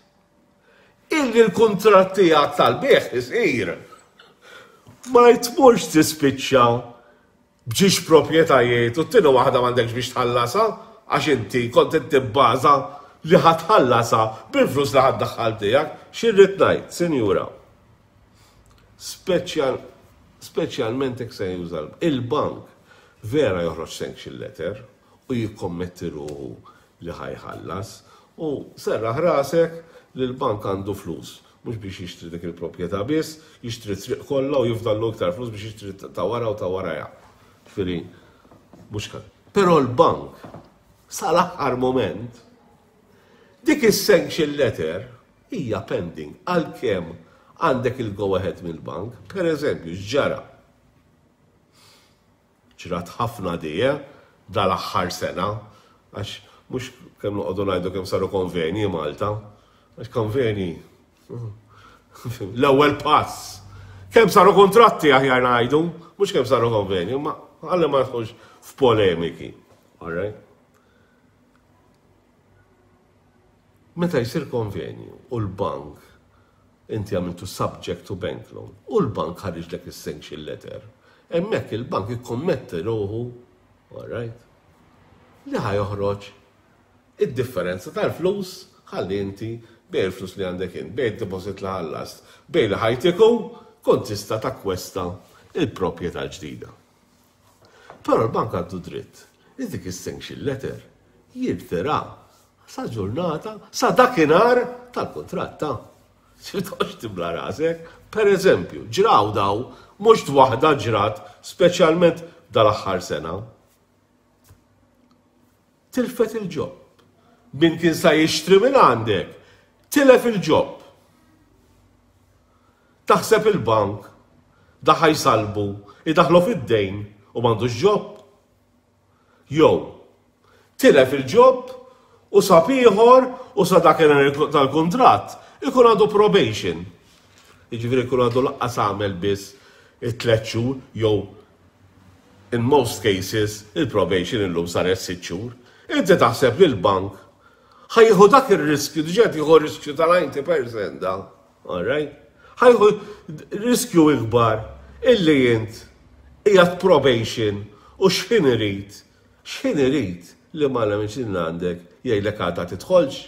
illi l-kuntratt tiegħek tal-bejgħ isir. Ma jtmurx tispiċċa b'żewġ proprjetajiet u t-tieni waħda m'għandekx biex tħallasha għax inti kont qed tibbaża li ħa tħallasha bil-flus li ħa ddaħħal tiegħek. X'irrid ngħid, sinjura? Speċjal speċjalment hekk se juża il-bank, vera joħroġ sanction letter u jikkommetti ruħu li ħa jħallas u serraħ rasek li l-bank għandu flus mhux biex jixtri dik il-proprjetà biss, jixtri triq kollha u jifdallu iktar flus biex jixtri ta' wara u ta' waraja. Ġifieri, mhux kan. Però l-bank sal-aħħar moment dik is-sanction letter hija pending għalkemm għandek il-go ahead mill-bank, per eżempju, ġara. Ġrat ħafna dija dal-aħħar sena, għax mhux kemm noqogħdu ngħidu kemm saru konvenji Malta, għax konvenji l-ewwel pass. Kemm saru kontratti aħjar ngħidu, mhux kemm saru konvenji, ma għalli ma nidħolx f'polemiki. All right? Meta jsir konvenju u l-bank inti għamiltu subject to bank loan u l-bank ħariġlek is-sanction letter, hemmhekk il-bank ikkommetti ruħu, all right, li ħa joħroġ id-differenza tal-flus ħalli inti bejn il-flus li għandek int, bejn il-deposit li ħallast, bejn li ħa jtik hu, kont tista' takkwesta il-proprjetà ġdida. Però l-bank għandu dritt li dik is-sanction letter jirtira Sa ġurnata, sa dakinhar tal-kuntratt ta'. Toqgħodx tibla rasek. Per eżempju, ġraw daw, mhux waħda ġrat, speċjalment dal-aħħar sena. Tilfet il-job. Min kien sa jixtri minn għandek, tilef il-job. Taħseb il-bank, da ħa jsalbu, idaħlu fid-dejn u m'għandux job. Jew, tilef il-job u sab ieħor u sa dak tal-kuntratt ikun għandu probation. Jiġifieri jkun għandu laqqas għamel biss it-tliet xhur jew in most cases il-probation illum saret sitt xhur. Inti taħseb li l-bank ħa jieħu dak ir-riskju, diġà jieħu riskju tal-disgħin fil-mija da, all right? Ħa jieħu riskju ikbar illi int qiegħed probation u x'ħin irid, x'ħin irid li ma minn għandek jgħidlek għadha tidħolx.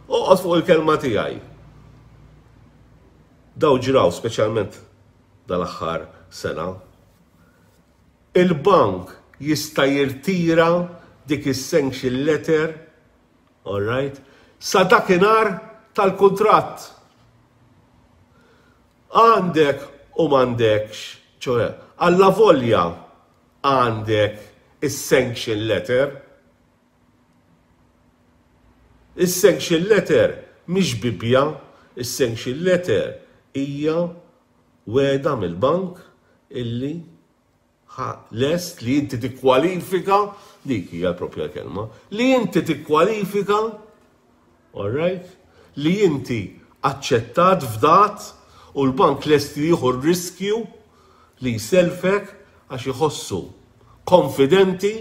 Oqgħod fuq il-kelma tiegħi. Daw ġraw speċjalment dal-aħħar sena. Il-bank jista' jirtira dik is-sanction letter, all right, sa dakinhar tal-kuntratt. Għandek u m'għandekx, ċoè, alla volja għandek is-sanction letter. Is-sanction letter mhix Bibbja, is-sanction letter hija wegħda mill-bank illi lest li inti tikkwalifika, dik hija l-propja kelma, li inti tikkwalifika, all right, li inti aċċettat fdat u l-bank lest li jieħu r-riskju li jselfek għax jħossu konfidenti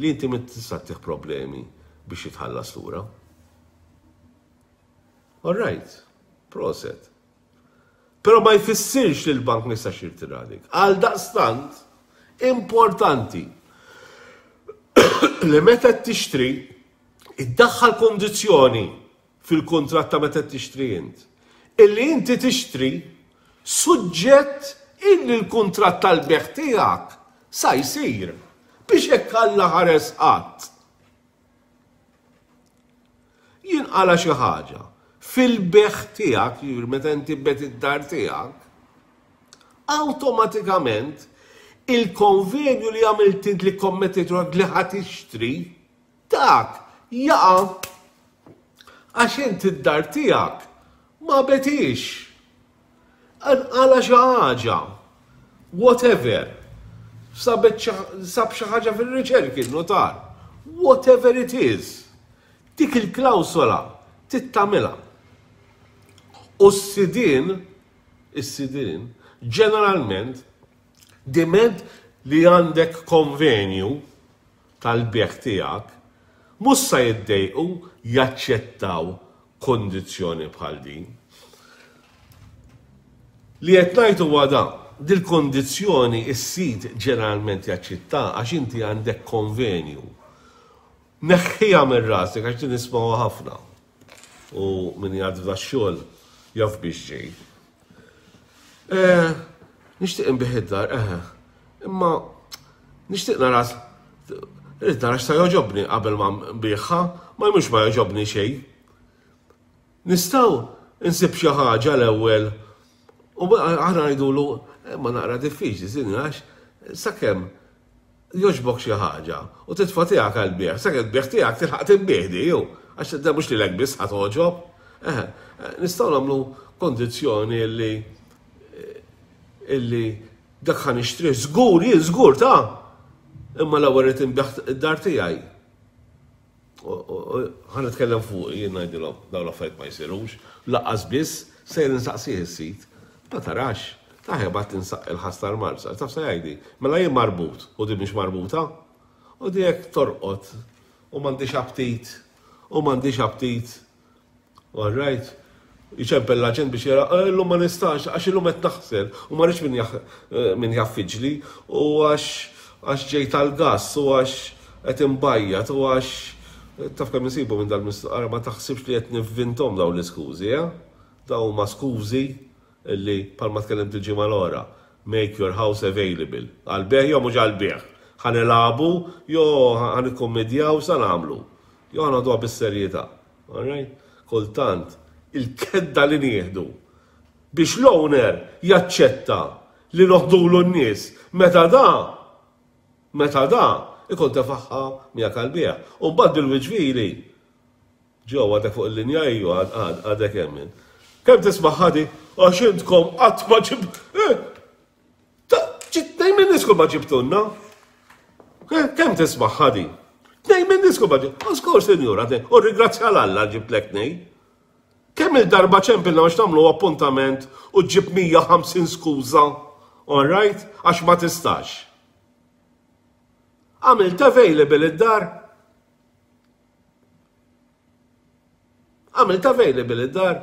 li inti ma tista' problemi biex jitħallas lura. All right, proset. Pero ma jfissirx li l-bank ma jistax jirtira dik. Għal daqstant, importanti li meta tixtri, iddaħħal kondizzjoni fil-kontratt ta' meta tixtri int. Illi inti tixtri suġġett illi l-kontratt tal-bejgħ tiegħek sa jsir biex hekk Alla ħares qatt jinqala xi ħaġa fil-bejgħ tiegħek, meta inti tbigħ id-dar tiegħek, awtomatikament il-konvenju li għamilt int li kommettejt li ħa tixtri, dak jaqa' għax inti id-dar tiegħek ma begħtx. Għala xi ħaġa, whatever, sabet sab xi ħaġa fil-riċerki notar, whatever it is, dik il-klawsola tittamilha. U s-sidin, is-sidin, ġeneralment, diment li għandek konvenju tal-bejgħ tiegħek, mhux sa jiddejqu jaċċettaw kondizzjoni bħal din. Li qed ngħid huwa dan, dil-kondizzjoni is-sid ġeneralment jaċċetta għax inti għandek konvenju. Neħħija minn rasek għax din nismgħu ħafna. U min jgħad f'da xogħol jaf biex ġej. Eh, nixtieq inbigħ id-dar, eh, imma nixtieq nara rrid nara x'sa jogħġobni qabel ma nbigħha, ma mhux ma jogħġobni xejn. Nistgħu nsib xi ħaġa l-ewwel u aħna ngħidulu ma naqra diffiċli, sinni għax sakemm jogħġbok xi ħaġa u titfa' tiegħek għall-bejgħ, sakemm bejgħ tiegħek tilħaq tinbiegħ di jew għax da mhux lilek biss ħa togħġob. Eh, nistgħu nagħmlu kondizzjoni illi illi dak ħa nixtri żgur, jien żgur ta' imma l-ewwel irid inbigħ id-dar tiegħi. Ħa nitkellem fuq jien ngħidilhom dawn l-affarijiet ma jsirux, lanqas biss sejr insaqsih is-sid. Ma tarax, taħja bat tinsaq il-ħas tal-marsa, taf sa jgħidi, mela jien marbut u di mhix marbuta. U di jekk torqod u m'għandix aptit u m'għandix aptit. All right. Iċempel l-aġent biex jara, "Eh, illum ma nistax, għax illum qed naħsel u ma rridx min jaffiġli u għax għax ġej tal-gas u għax qed imbajjat u għax taf kemm insibu minn dal-mistoqara ma taħsibx li qed nivvintom dawn l-iskużi, eh? Dawn huma skużi illi palma tkellimt il-ġimgħa l-ora. Make your house available. Għal-bejgħ jew mhux għal-bejgħ. Ħa nilagħbu jew ħa nikkummedjaw sa nagħmlu. Jew għandu bis-serjetà. All right? Kultant il-kedda li nieħdu biex l-owner jaċċetta li noħdulu n-nies meta da meta da ikun tefaħħa miegħek għall-bejgħ. U mbagħad bil-wiġvili ġew għadek fuq il-linja iju għadek hemmin. Kemm tisma' ħadi għax intkom qatt ma ġib. Tnejn minn niskom ma ġibtunna. Kemm tisma' ħadi? Tnejn minn niskom ma ġib. Askur, sinjura, u ringrazzja l-Alla ġiblek tnejn. Kemm il-darba ċempilna biex nagħmlu appuntament u ġib mija u ħamsin skuża, all right? Għax ma tistax. Għamilt available id-dar? Għamilt available id-dar?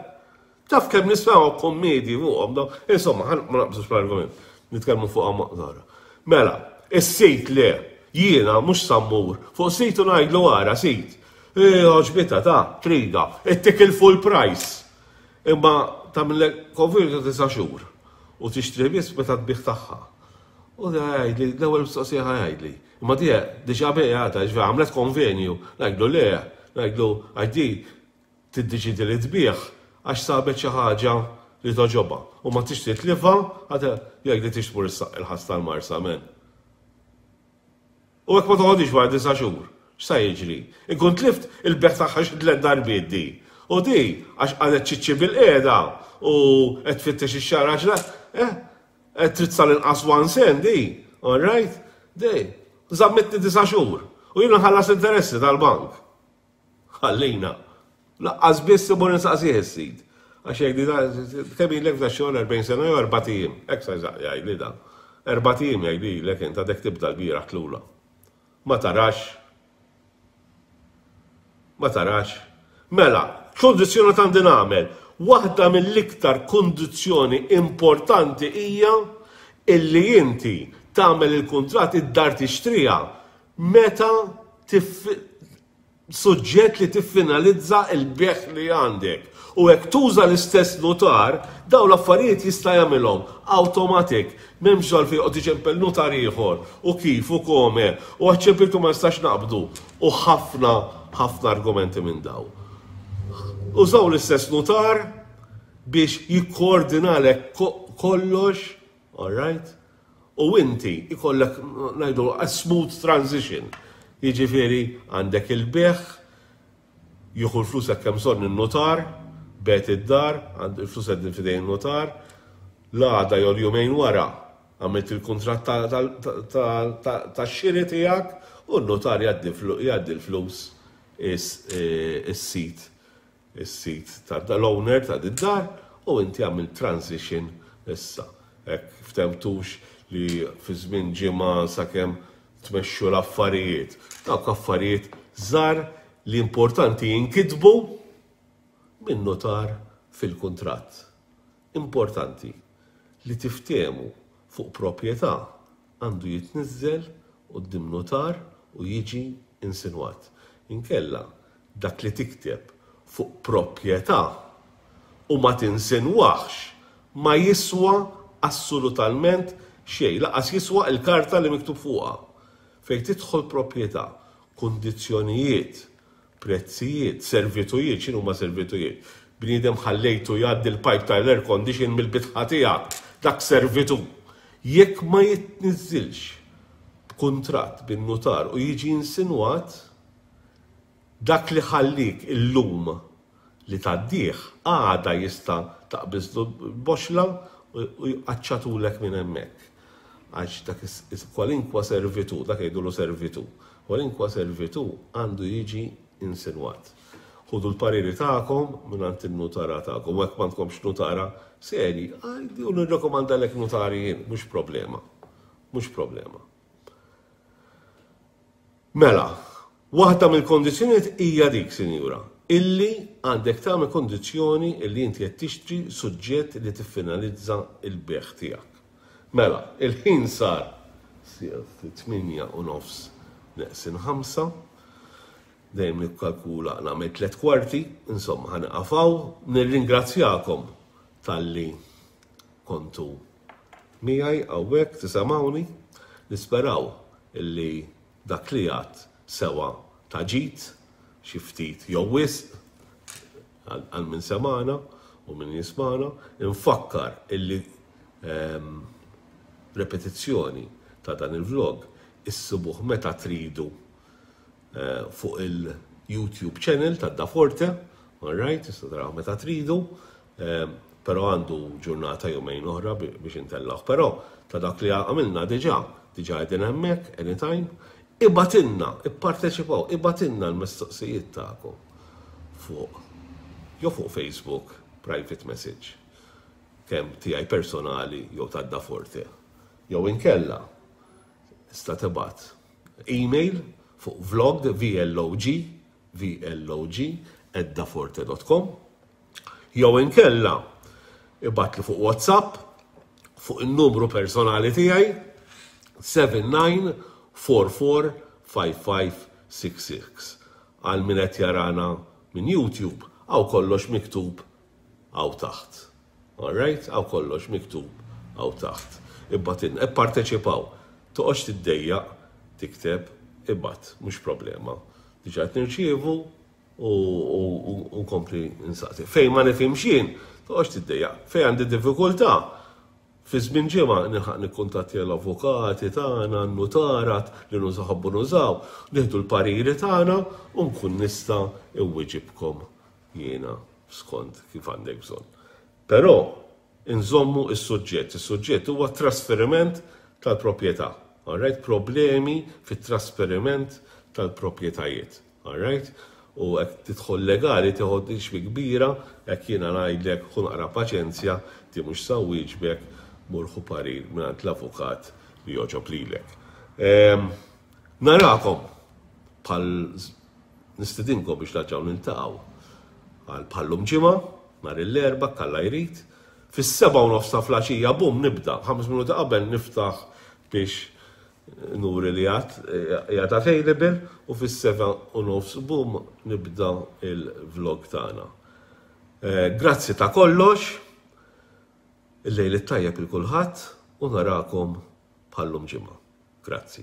Taf kemm nismaw kommedji fuqhom daw. Insomma, ma naqbżux l-argument. Nitkellmu fuqha maqdara. Mela, is-sit le, jiena mhux sammur, fuq sit u ngħidlu ara sit. Għoġbita ta' trida, ittik il-full price. Imma tagħmillek konvjenju ta' tisa' xhur u tixtri biss meta tbigħ tagħha. U da jgħidli, l-ewwel mistoqsija jgħidli. Imma di diġà bejgħata, ġifieri għamlet konvenju, ngħidlu le, ngħidlu għax di tiddeċidi li tbigħ għax sabet xi ħaġa li toġobha u ma tixtri tlifha, jgħidli tix tmur il-ħass tal-Marsa, men. U hekk ma toħodix wara disa' xhur, x'sa jiġri? Inkun tlift il-beħ tagħha xi tliet darbiet di. U di għax qalet ċiċċi bil-qiegħda u qed tfittex ix-xahar għax eh qed trid sal-inqas one cent di, all right? Di, żammitni disa' xhur u jiena nħallas interessi tal-bank. Ħallina. Laqqas biss imur insaqsih is-sid. Għax jgħidli da, kemm ilek f'da xogħol erbgħin sena jew erbat ijiem. Hekk sa jgħidli da. Erbat ijiem jgħidli ilek int għadek tibda l-bieraħ tlula. Ma tarax. Ma tarax. Mela, kondizzjoni ta' għandi nagħmel. Waħda mill-iktar kondizzjoni importanti hija illi inti tagħmel il-kuntratt id-dar tixtriha meta suġġett li tiffinalizza il-beħ li għandek. U hekk tuża l-istess notar, daw l-affarijiet jista' jagħmilhom automatic. M'hemmx għalfejn joqgħod iċempel notar ieħor u kif u kome u għaċ-ċempiltu ma nistax naqbdu u ħafna ħafna argumenti minn daw. Użaw l-istess notar biex jikkoordinalek kollox, all right? U inti ikollek ngħidu a smooth transition. Jiġifieri għandek il-beħ, jieħu l-flus hekk hemm bżonn in-notar, bet id-dar, għand il-flus qegħdin f'idejn in-notar, l-għada jew jumejn wara għamilt il-kuntratt tax-xiri tiegħek u n-notar jgħaddi l-flus is-sit, is-sit tal-owner ta' id-dar u inti għamilt transition issa. Hekk ftemtux li fi żmien ġimgħa sakemm tmexxu l-affarijiet. Dawk affarijiet żgħar li importanti jinkitbu minn notar fil-kuntratt. Importanti li tiftehmu fuq proprjetà għandu jitniżżel quddiem notar u jiġi insinwat. Inkella dak li tikteb fuq proprjetà u ma tinsinwax ma jiswa assolutament xejn, laqas jiswa l-karta li miktub fuqha. Fejn tidħol proprjetà, kundizzjonijiet, prezzijiet, servitujiet, x'inhu ma servitujiet? Bniedem ħallejtu jgħaddi l-pipe tal-air condition mill-bitħa tiegħek, dak servitu. Jekk ma jitniżżilx b'kuntratt bin-notar u jiġi insinwat, dak li ħallik illum li tgħaddih għada jista' taqbiżlu boxla u jqaċċatulek minn hemmhekk. Għax dak kwalinkwa servitu, dak jgħidulu servitu, kwalinkwa servitu għandu jiġi insinwat. Ħudu l-pariri tagħkom mingħand in-nutara tagħkom, u hekk m'għandkomx nutara seri, għajdi u nirrekomandalek nutari jien, mhux problema. Mhux problema. Mela, waħda mill-kondizzjonijiet hija dik, sinjura, illi għandek tagħmel kondizzjoni illi inti qed tixtri suġġett li tiffinalizza l-beħ tiegħek. Mela, il-ħin sar tmienja u nofs neqsin ħamsa, dejjem nikkalkula nagħmel tliet kwarti, insomma ħaniqafaw, nirringrazzjakom talli kontu miegħi hawnhekk tisimgħuni, nisperaw illi dak li għad sewa ta' ġid, xi ftit jew wisq għal min semana u min jismana. Infakkar illi ehm, repetizzjoni ta' dan il-vlog issibuh meta tridu eh, fuq il-YouTube channel ta' Da Forte, alright, tista' taraw meta tridu, ehm, però għandu ġurnata jumejn oħra biex intellaw. Però ta' dak li għamilna diġà, diġà qegħdin hemmhekk anytime, ibgħatilna, ipparteċipaw, ibgħatilna l-mistoqsijiet tagħkom fuq jew fuq Facebook, private message, kemm tiegħi personali jew ta' Da Forte. Jew inkella tista' tibgħat email fuq vlog, vlog, vlog, at daforte dot com, jew inkella ibgħatli fuq WhatsApp fuq il-numru personali tiegħi sitta disa' erba' erba' ħamsa ħamsa sitta sitta. Għal min qed jarana minn YouTube, hawn kollox miktub hawn taħt. Alright? Hawn kollox miktub hawn taħt. Ibgħatilna, ipparteċipaw. Toqgħodx tiddejjaq tikteb, ibgħat, mhux problema. Diġà qed nirċievu u nkompli nsaqsi. Fejn ma nifhimx jien, toqgħodx tiddejjaq. Fejn għandi diffikultà, fi żmien ġimgħa nilħaq nikkuntatti l-avukati tagħna, n-nutara li nużaw nużaw, nieħdu l-pariri tagħna u nkun nista' inwiġibkom jiena skont kif għandek bżonn. Però inżommu is-suġġett. Is-suġġett huwa trasferiment tal-proprjetà. Alright? Problemi fit-trasferiment tal-proprjetajiet. Alright? U hekk tidħol legali tieħod xbi kbira, hekk jiena ngħidlek ħu naqra paċenzja, ti mhux sa wieġbek, mur ħu parir mingħand l-avukat li jogħġob lilek. Narakom bħal nistedinkom biex nerġgħu niltaqgħu għal bħal-lum ġimgħa, nhar l-Erbgħa, Alla jrid. Fis-sebgħa u nofs ta' filgħaxija, bum, nibda, ħames minuti qabel niftaħ biex nuri li għad qiegħed available u fis-sebgħa u nofs, bum, nibda il-vlog tagħna. Eh, grazzi ta' kollox, il-lejl it-tajjeb lil kulħadd u narakom bħal-lum ġimgħa. Grazzi.